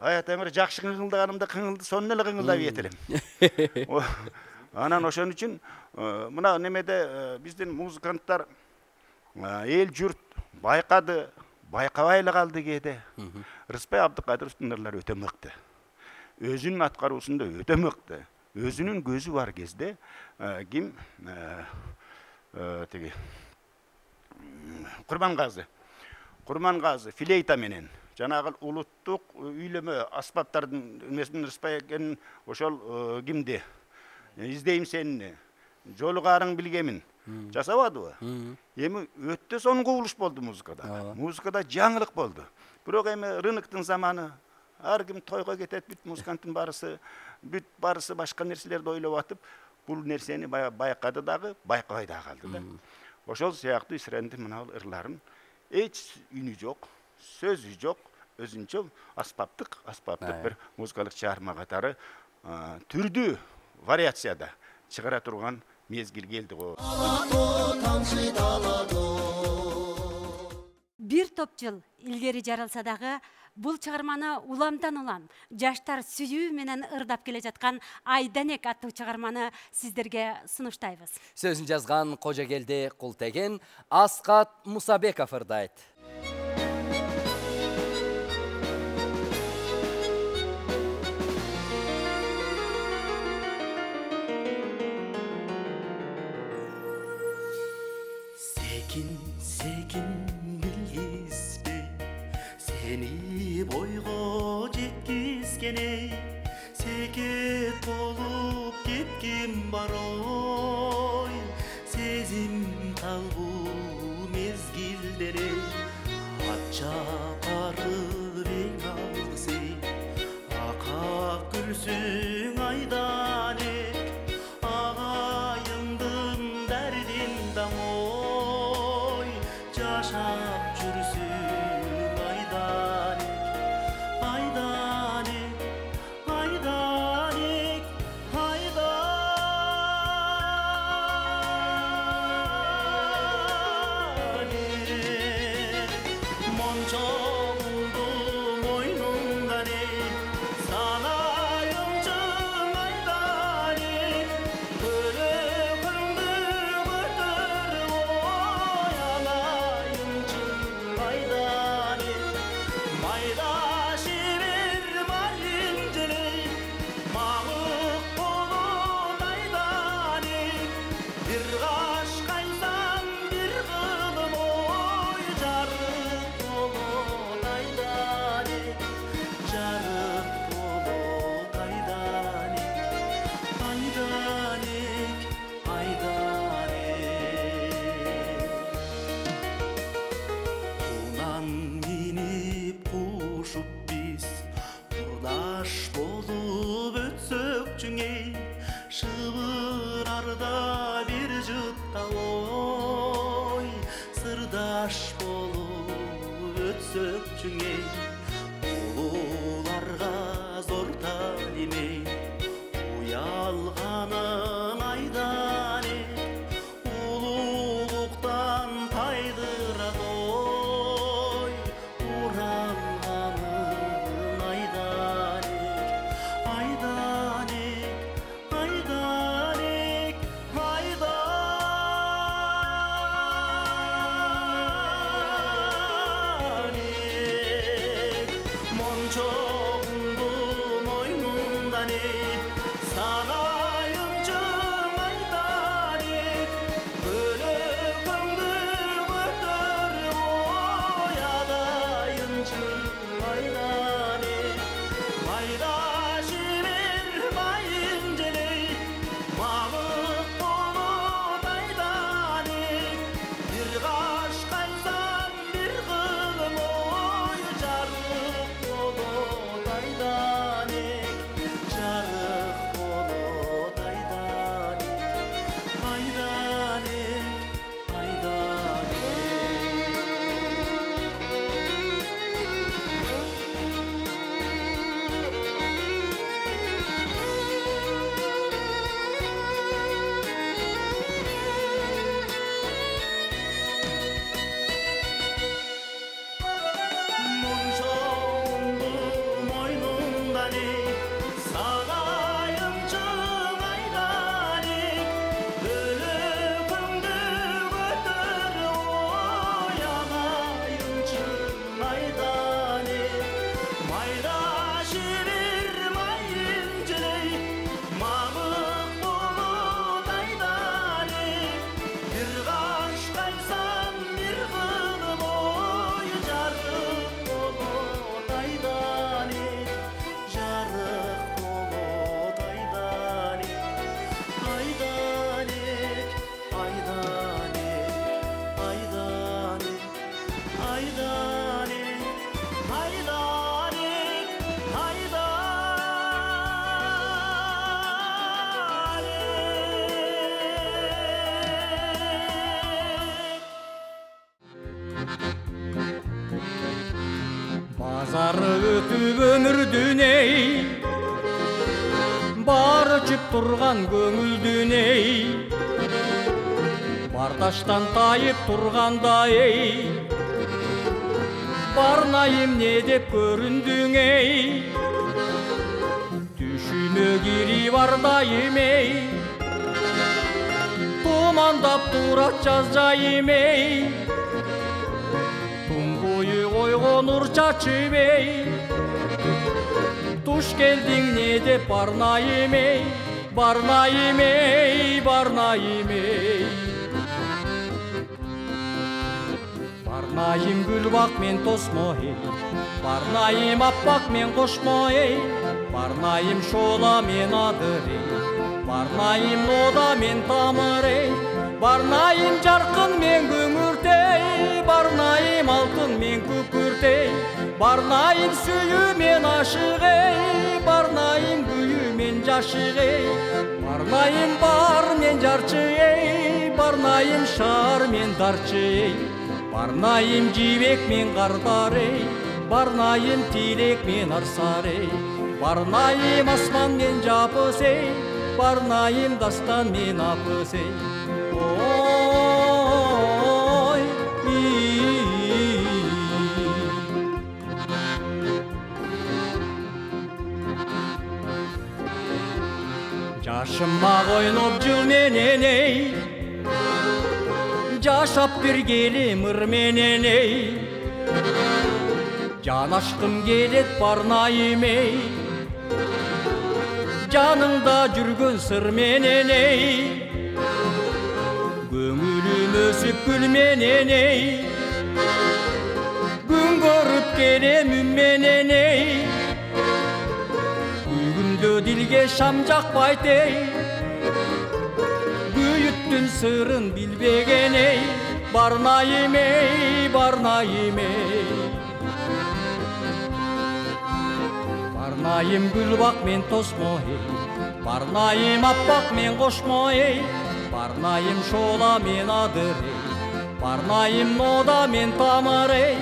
Аят эмир жакшы кыңылдаганымда сонун эле кыңылдап ийет элем. Анан ошон үчүн мына немеде биздин музыканттар эл журт байкады, байкабай эле калды кээде. Рыспай Абдыкадыровдун ырлары өтө мыкты. Өзүнүн аткаруусунда өтө мыкты. Өзүнүн көзү бар кезде ким тиги Курмангазы флейта менен жанагы улуттук үйлөмө аспаптардын эмесин Рыспай экенин ошол кимди издейм сени, жолугарың билгемин жасабадыбы? Эми өтө сонун кубулуш болду музыкада. Музыкада жаңылык болду. Бирок эми рыноктун заманы, ар ким тойго кетет, бүт музыканттын баарысы башка нерселерди ойлоп атып, бул нерсени байкады дагы, байкабай дагы калды да. Ошол сыяктуу эсрадин мына ырларын эч үнү жок, сөзү жок, өзүнчө аспаптык бир музыкалык чыгарма катары түрдүү вариацияда чыгара турган мезгил келди го. Бир топ жыл илгери жаралса дагы бул чыгарманы уламдан улам жаштар сүйүү менен ырдап келе жаткан Айданек аттуу чыгарманы сиздерге сунуштайбыз. Сөзүн жазган Кожогелди Култеген, Аскат Мусабеков ырдайт. Секин билгизбей, сени бойго жеткизгени, секет болуп кетким бар ой, сезим талбуу мезгилдери, ачапарып эң алгысы, акак күлсүң Айданек, агайымдын дардин даңой, жашап жүрсүң Айданек, Айданек, Айданек, Айданек. Мончогумду мойнуңдан салайымчың Айданек, көлөкөңдү көтөрүп ой алайымчың Айданек. Мончоңду мойнундан ей сарайымчы майдани бөлөгөңдү көтөрүп оядайынчы майдани майдашы бер майын желей мамык болот айдани бир каш кайсам бир кылым ой жарык болот айдани жарык болот айдани айдани айдани Мончоңду мойнундан ей сарайымчы майдани бөлөгөңдү көтөрүп оядайынчы майдани майдашы бир майын желей мамык болот айдани бир каш кайсам бир кылым ой жарык болот айдани жарык болот айдани айдани айдани айдани айдани айдани Базары өтүп өмүрдүн эй баары чүп турган көңүлдүн эй барташтан тайып турганда эй барнайым не деп көрүндүң эй түшүмө кирип ардайым эй тумандап турат жаз жайым эй тун бою ойгонур чачып эй туш келдиң не деп барнайым эй барнайым эй барнайым эй барнайым гүлбак мен тосмо эй барнайым аппак мен кошмо эй барнайым шоола мен адыр эй барнайым нода мен тамыр эй барнайым жаркын мен күңүрт эй барнайым алтын мен күкүрт эй барнайым сүйүү мен ашык эй барнайым күйүү мен жашык эй барнайым бар мен жарчы эй барнайым шаар мен дарчы эй барнайым жибек мен кардар эй барнайым тилек мен арсар эй барнайым асман мен жапыс эй барнайым дастан мен апыс эй ой жашыма койноп жыл менен эй жашап бергеле мыр менен эй жанашкым келет барнайым эй жаныңда жүргөн сыр менен эй көңүлүм өсүп гүл менен эй күн көрүп келем үн менен эй күйгүмдө дилге шам жакпайт эй күйүттүн сырын билбеген эй барнайым эй барнайым эй барнайым гүлбак мен тосмо эй барнайым аппак мен кошмо эй барнайым шоола мен адыр эй барнайым нода мен тамыр эй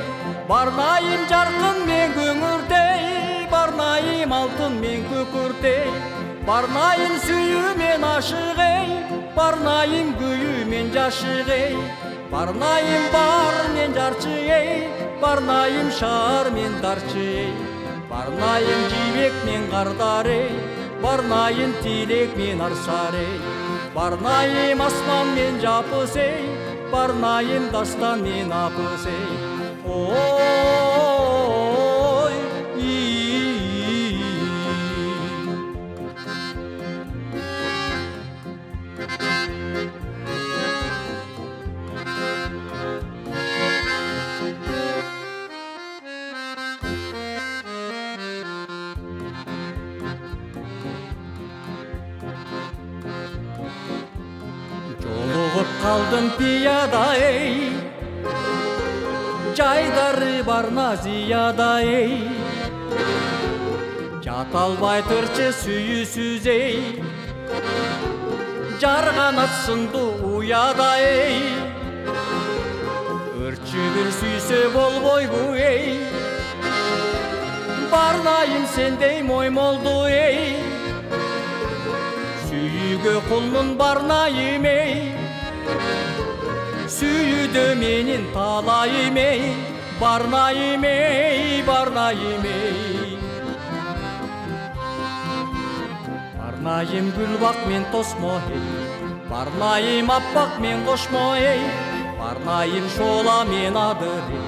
барнайым жаркын мен күңүрт эй барнайым алтын мен күкүрт эй барнайым сүйүү мен ашык эй барнайым күйүү мен жашык эй барнайым бар мен жарчы эй барнайым шаар мен дарчы эй барнайым жибек мен кардар эй барнайым тилек мен арсар эй барнайым асман мен жапыс эй барнайым дастан мен апыс эй ой калдым пияда эй, жайдары барна зияда эй, жата албай тырчы сүйүүсүз эй, жарганат сынды уяда эй, өрчү бир сүйсө болбойбу эй, барнайым сендей моймолду эй, сүйүүгө кулмун барнайым эй, сүйүүдө менин талайым эй, барнайым эй, барнайым эй. Барнайым гүлбак мен тосмо эй, барнайым аппак мен кошмо эй, барнайым шола мен адыр эй,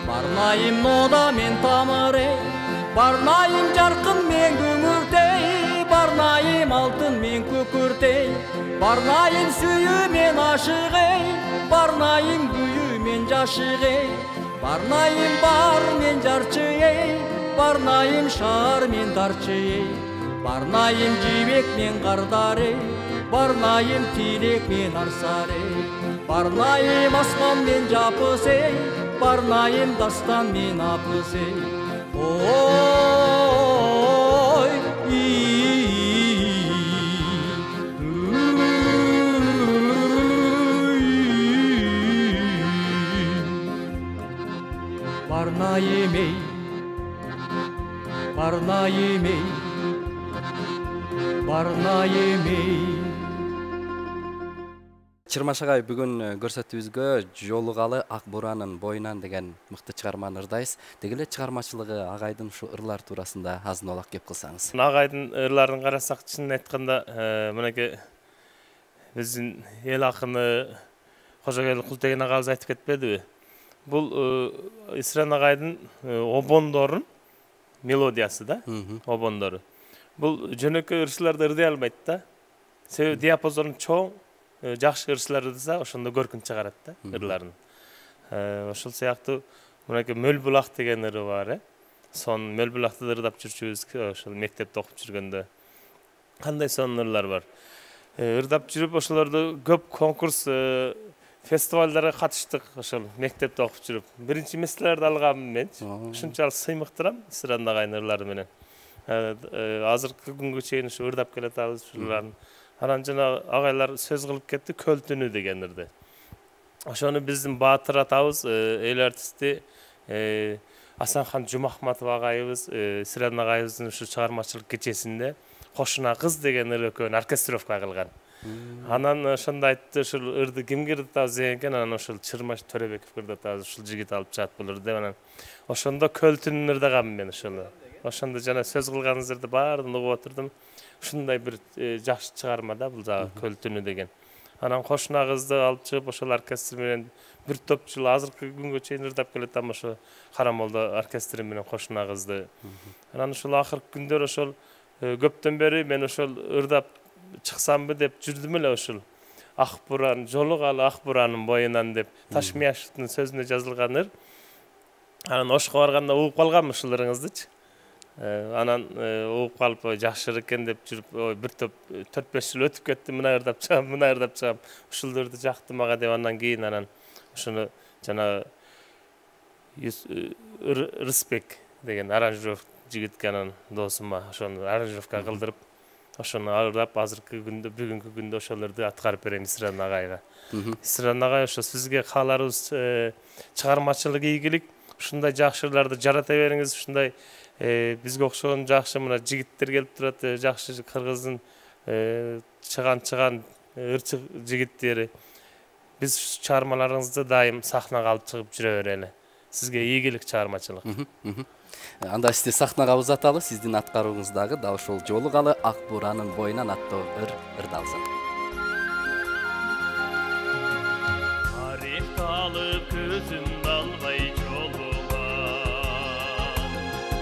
барнайым нода мен тамыр эй, барнайым жаркын мен күмүрт эй, барнайым алтын мен күкүрт эй, барнайым сүйүү мен ашык эй, барнайым күйүү мен жашык эй, барнайым бар мен жарчы эй, барнайым шаар мен дарчы эй, барнайым жибек мен кардар эй, барнайым тилек мен арсар эй, барнайым асман мен жапыс эй, барнайым дастан мен апыс эй. Ой, барнайым эй, барнайым эй, барнайым эй. Чырмаш агай, бүгүн көрсөтүүбүзгө Жолугалы ак буранын боюнан деген мыкты чыгарманы ырдайбыз. Деги эле чыгармачылыгы агайдын ушу ырлар туурасында азын олак кеп кылсаңыз. Агайдын ырларын карасак, чынын айтканда, мынакей биздин эл акыны Кожогел Култеген агабыз айтып кетпедиби? Бул Исран агайдын обондорун мелодиясы да, обондору. Бул жөнөкөй ырчыларды ырдай албайт да. Себеби диапазону чоң, жакшы ырчылар ырдаса, ошондо көркүн чыгарат да ырларын. Ошол сыяктуу мынакей Мөлбулак деген ыры бар, Сон Мөлбулакты ырдап жүрчүбүз, ошол мектепте окуп жүргөндө. Кандай сонун ырлар бар. Ырдап жүрүп ошолорду көп конкурс, фестивалдарга катыштык, ошол мектепте окуп жүрүп. Биринчи месселерди алганмын мен. Ушунчалык сыймыктырам Исран агайдын ырлары менен. Азыркы күнгө чейин ушу ырдап келатабыз ушуларды. Анан жана агайлар сөз кылып кетти, Көлтүнү деген ырды. Ошону биздин Баатыр атабыз, эл артисти Асанхан Жумахматов агайыбыз, Исран агайыбыздын ушу чыгармачылык кечесинде Кошуна кыз деген ыр экөөнү оркестровка кылган. Анан ошондо айтты, ушул ырды кимге ырдатабыз деген экен, анан ошол Чырмаш Төрөбековго ырдатабыз, ушул жигит алып чыгат бул ырды деп, анан ошондо Көлтүнүн ырдаганмын мен ошону. Ошондо жана сөз кылганыңыздарды баарын угуп отурдум. Ушундай бир жакшы чыгарма да бул жагы Көлтүнү деген. Анан Кошуна кызды алып чыгып, ошол оркестр менен бир топ жыл азыркы күнгө чейин ырдап келатам, ошо Карамолдо оркестри менен Кошуна кызды. Анан ошол акыркы күндөр ошол көптөн бери мен ошол ырдап чыксамбы деп жүрдүм эле, ошол Ак буран, Жолугалы ак буранын боюнан деп Ташмияшевдин сөзүнө жазылган ыр. Анан Ошко барганда угуп калганмын ушул ырыңыздычы. Анан угуп калып, жакшы экен деп жүрүп, бир топ 4-5 жыл өтүп кетти, мына ырдап чыгам, мына ырдап чыгам. Ушуларды жакты мага деп, андан кийин анан ушуну жана Рысбек деген аранжировка жигитке, анан досума ошону аранжировка кылдырып, ошону ырдап азыркы күндө, бүгүнкү күндө ошолорду аткарып берем Исран агайга. Исран агай, ошо сизге кааларыбыз чыгармачылык ийгилик, ушундай жакшы ырларды жарата бериңиз, ушундай бизге окшогон жакшы мына жигиттер келип турат, жакшы кыргыздын чыган ырчык жигиттери. Биз чыгармаларыңызды дайым сахнага алып чыгып жүрө берели. Сизге ийгилик чыгармачылык. Анда сизди сахнага узаталы, сиздин аткарууңуздагы да ошол Жолугалы ак буранын боюнан аттуу ыр ырдалсын. Тарихталып көзүмдү албай жолуган,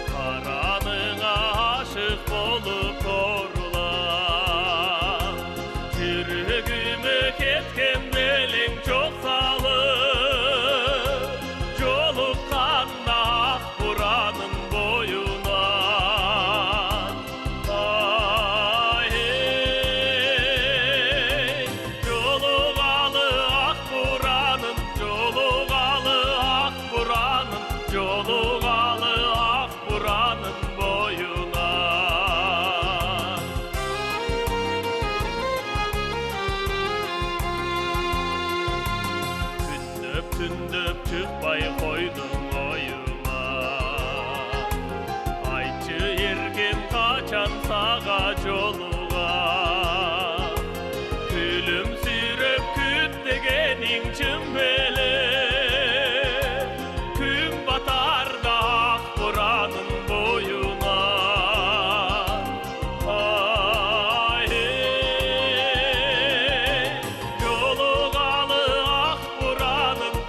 караныңа ашык болуп торлан, жүрөгүмө кеткен белең жок салып, жолуккан ак буранын боюнан. түндөп чыкпай койдуң оюңа. Айтчы эргем качан сага жолуган, күлүмсүрөп күт дегениң чын беле. Күн батарда ак буранын боюна.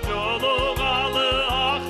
Жолугалы ак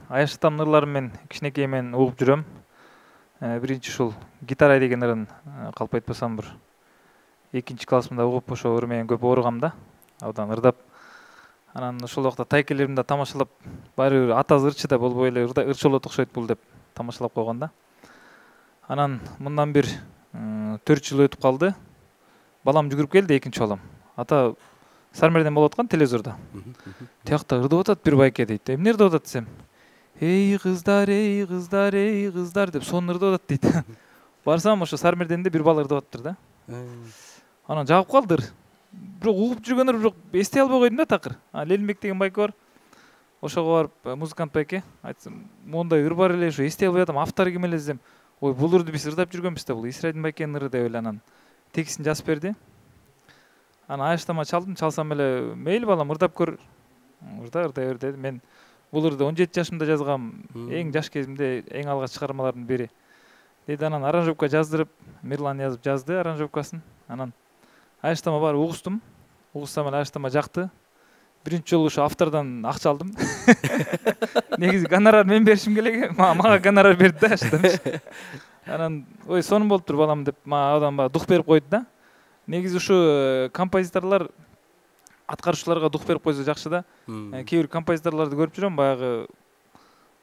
Аяш атамдын ырларын мен кичинекей мен угуп жүрөм. Биринчи ушул гитара деген ырын калп айтпасам бир 2-классымда угуп ошо ыр менен көп ооругам да. Абдан ырдап. Анан ошол убакта тайкелеримди тамашалап, баары бир атасы ырчы да болбой эле ырчолот окшойт бул деп тамашалап койгон да. Анан мындан бир 4 жыл өтүп калды. Балам жүгүрүп келди экинчи балам. Ата Сармерден болуп аткан телевизордо. Тиякта ырдап атат бир байке дейт. Эмне ырдап атат десем, эй кыздар, эй кыздар, эй кыздар деп сонун ырдап атат дейт. Барсам ошо Сармерденде бир бала ырдап атыптыр да. Анан жагып калдыр. Бирок угуп жүргөндөр бирок эстей албай койдум да такыр. Лелинбек деген байке бар. Ошого барып музыкант байке айтсам, мондай ыр бар эле, ошо эстей албай атам, автору ким эле десем, ой бул ырды биз ырдап жүргөнбүз да, бул Исрайдин байкенин ыры деп эле анан текстин жазып берди. Анан Аяштама чалдым, чалсам эле мейли балам ырдап көр. Ырда бер деди. Мен бул ырды 17 жашымда жазгам, эң жаш кезимде эң алгач чыгармалардын бири. Деди анан аранжировка жаздырып, Мирлан жазып жазды аранжировкасын. Анан Аяштама бар угустум. Угуссам эле Аяштама жакты. Биринчи жолу ошо автордон акча алдым. Негизи гонорар мен беришим керек, мага гонорар берди да Аяштама. Анан ой сонун болуптур балам деп мага адам дух берип койду да. Негизи ушу композиторлор аткаруучуларга дух берип койсо жакшы да. Кээ бир композиторлорду көрүп жүрөм, баягы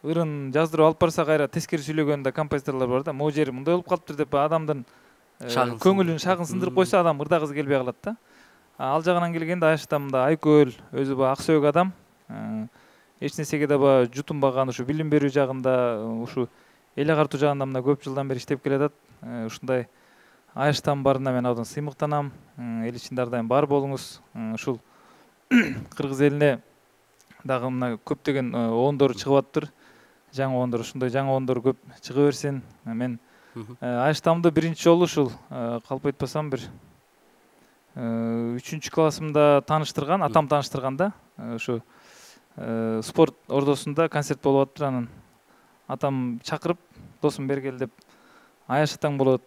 ырын жаздырып алып барса кайра тескери сүйлөгөн да композиторлор бар да. Могу жери мындай болуп калыптыр деп адамдын көңүлүн шагын сындырып койсо адам ырдагысы келбей калат да. Ал жагынан келгенде Аяштамда айкөл, өзү баягы ак сөөк адам. Эч нерсеге да баягы жутунбаган, ушу билим берүү жагында, ушу эл агартуу жагында мына көп жылдан бери иштеп келатат. Ушундай Аяштам барына мен абдан сыймыктанам. Эл ичинде ар дайым бар болуңуз. Ушул кыргыз элине дагы мына көптөгөн оондор чыгып атыптыр. Жаңы оондор, ушундай жаңы оондор көп чыга берсин. Мен Аяштамды биринчи жолу ушул калп айтпасам бир 3-классымда тааныштырган, атам тааныштырган да. Ушу спорт ордосунда концерт болуп атыптыр, анан атам чакырып, досум бергел деп, Аяш атаң болот.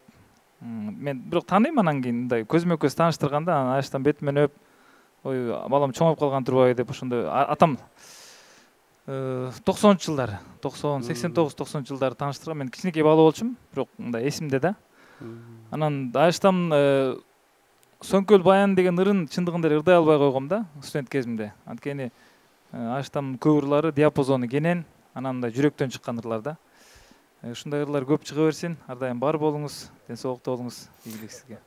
Мен бирок тааныйм, анан кийин мындай көзмө көз тааныштырганда, анан Аяштан бетимен өп, ой балам чоңоюп калган турбайбы деп ошондой атам 90-жылдары, 89-90 жылдары тааныштырган. Мен кичинекей бала болчумун, бирок мындай эсимде да. Анан Аяштам Сөңкөл баян деген ырын чындыгында эле ырдай албай койгом да студент кезимде. Анткени Аяштамдын көп ырлары диапазону кенен, анан да жүрөктөн чыккан ырлар да. Ушундай ырлар көп чыга берсин. Ар дайым бар болуңуз, ден соолукта болуңуз. Ийгилик сизге.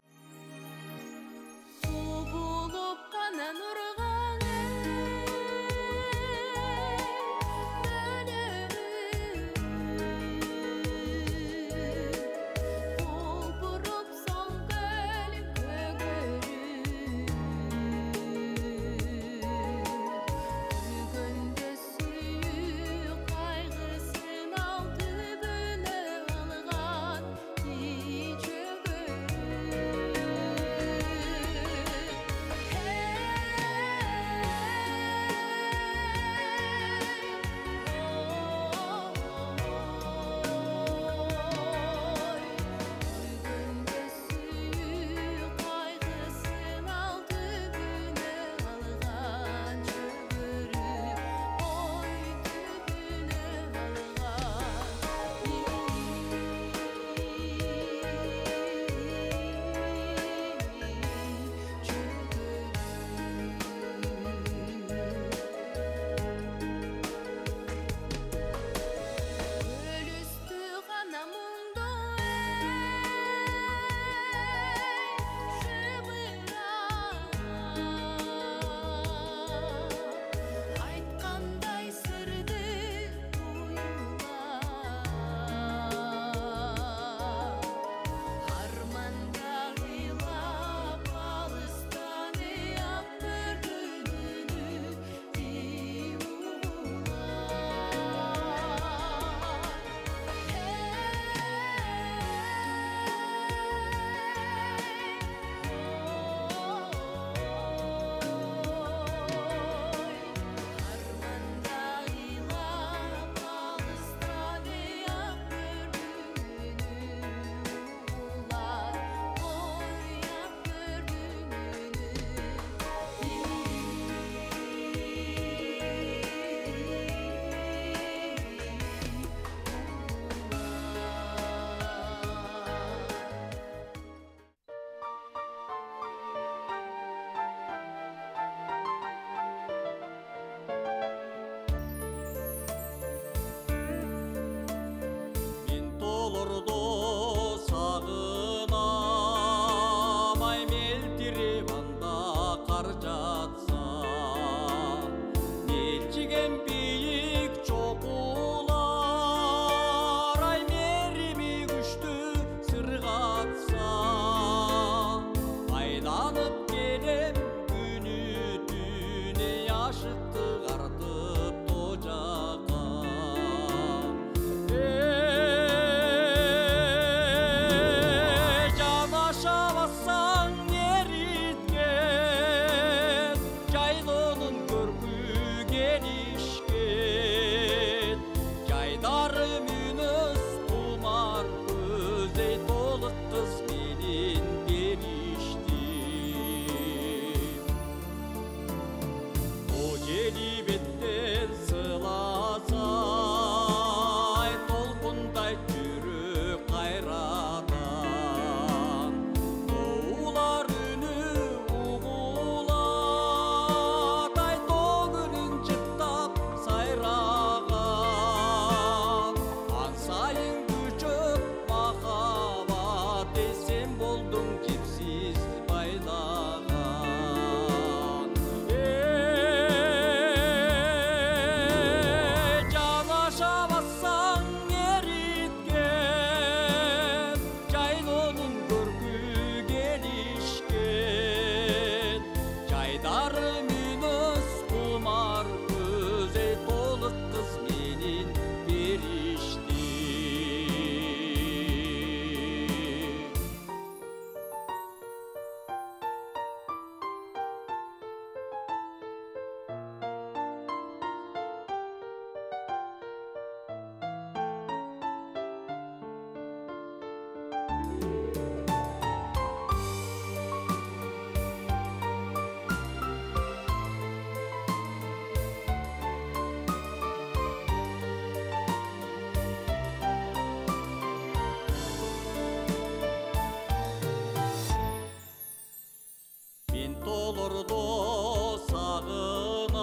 бордо сагынам,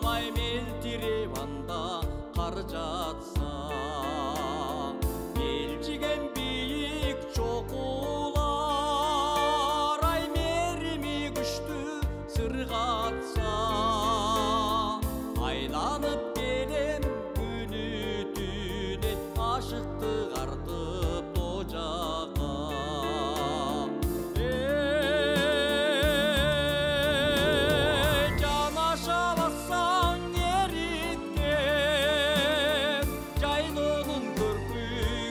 ай мелтиреп анда кар жатса, элчиген бийик чокулар, ай мерими күчтүү сыргатса, айланып келем күнү түнү, ашыктык артып тожага. Жанаша бассаң эриткен, жайлоонун көркү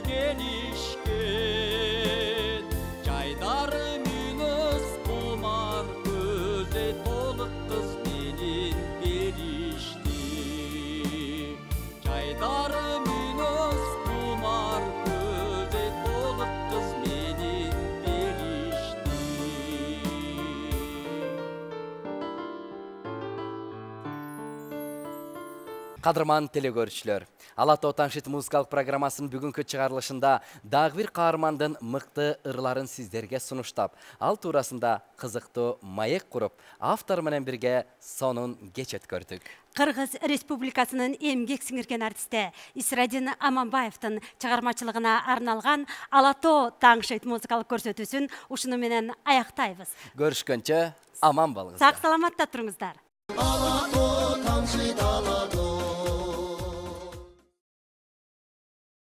келишкен, жайдары мүнөз кумар көзү, толук кыз менин беришти. Жайдары мүнөз кумар көзү, толук кыз менин беришти. Кадырман телекөрүүчүлөр, Ала Тоо Таңшыт музыкалык программасынын бүгүнкү чыгарылышында дагы бир каармандын мыкты ырларын сиздерге сунуштап, ал туурасында кызыктуу маек куруп, автор менен бирге сонун кеч өткөрдүк. Кыргыз Республикасынын эмгек сиңирген артисти Исрадин Аманбаевдин чыгармачылыгына арналган Ала Тоо Таңшыт музыкалык көрсөтүүсүн ушуну менен аяктайбыз. Көрүшкөнчө аман болуңуздар. Сак саламатта туруңуздар. Ала Тоо Таңшыт, Ала Тоо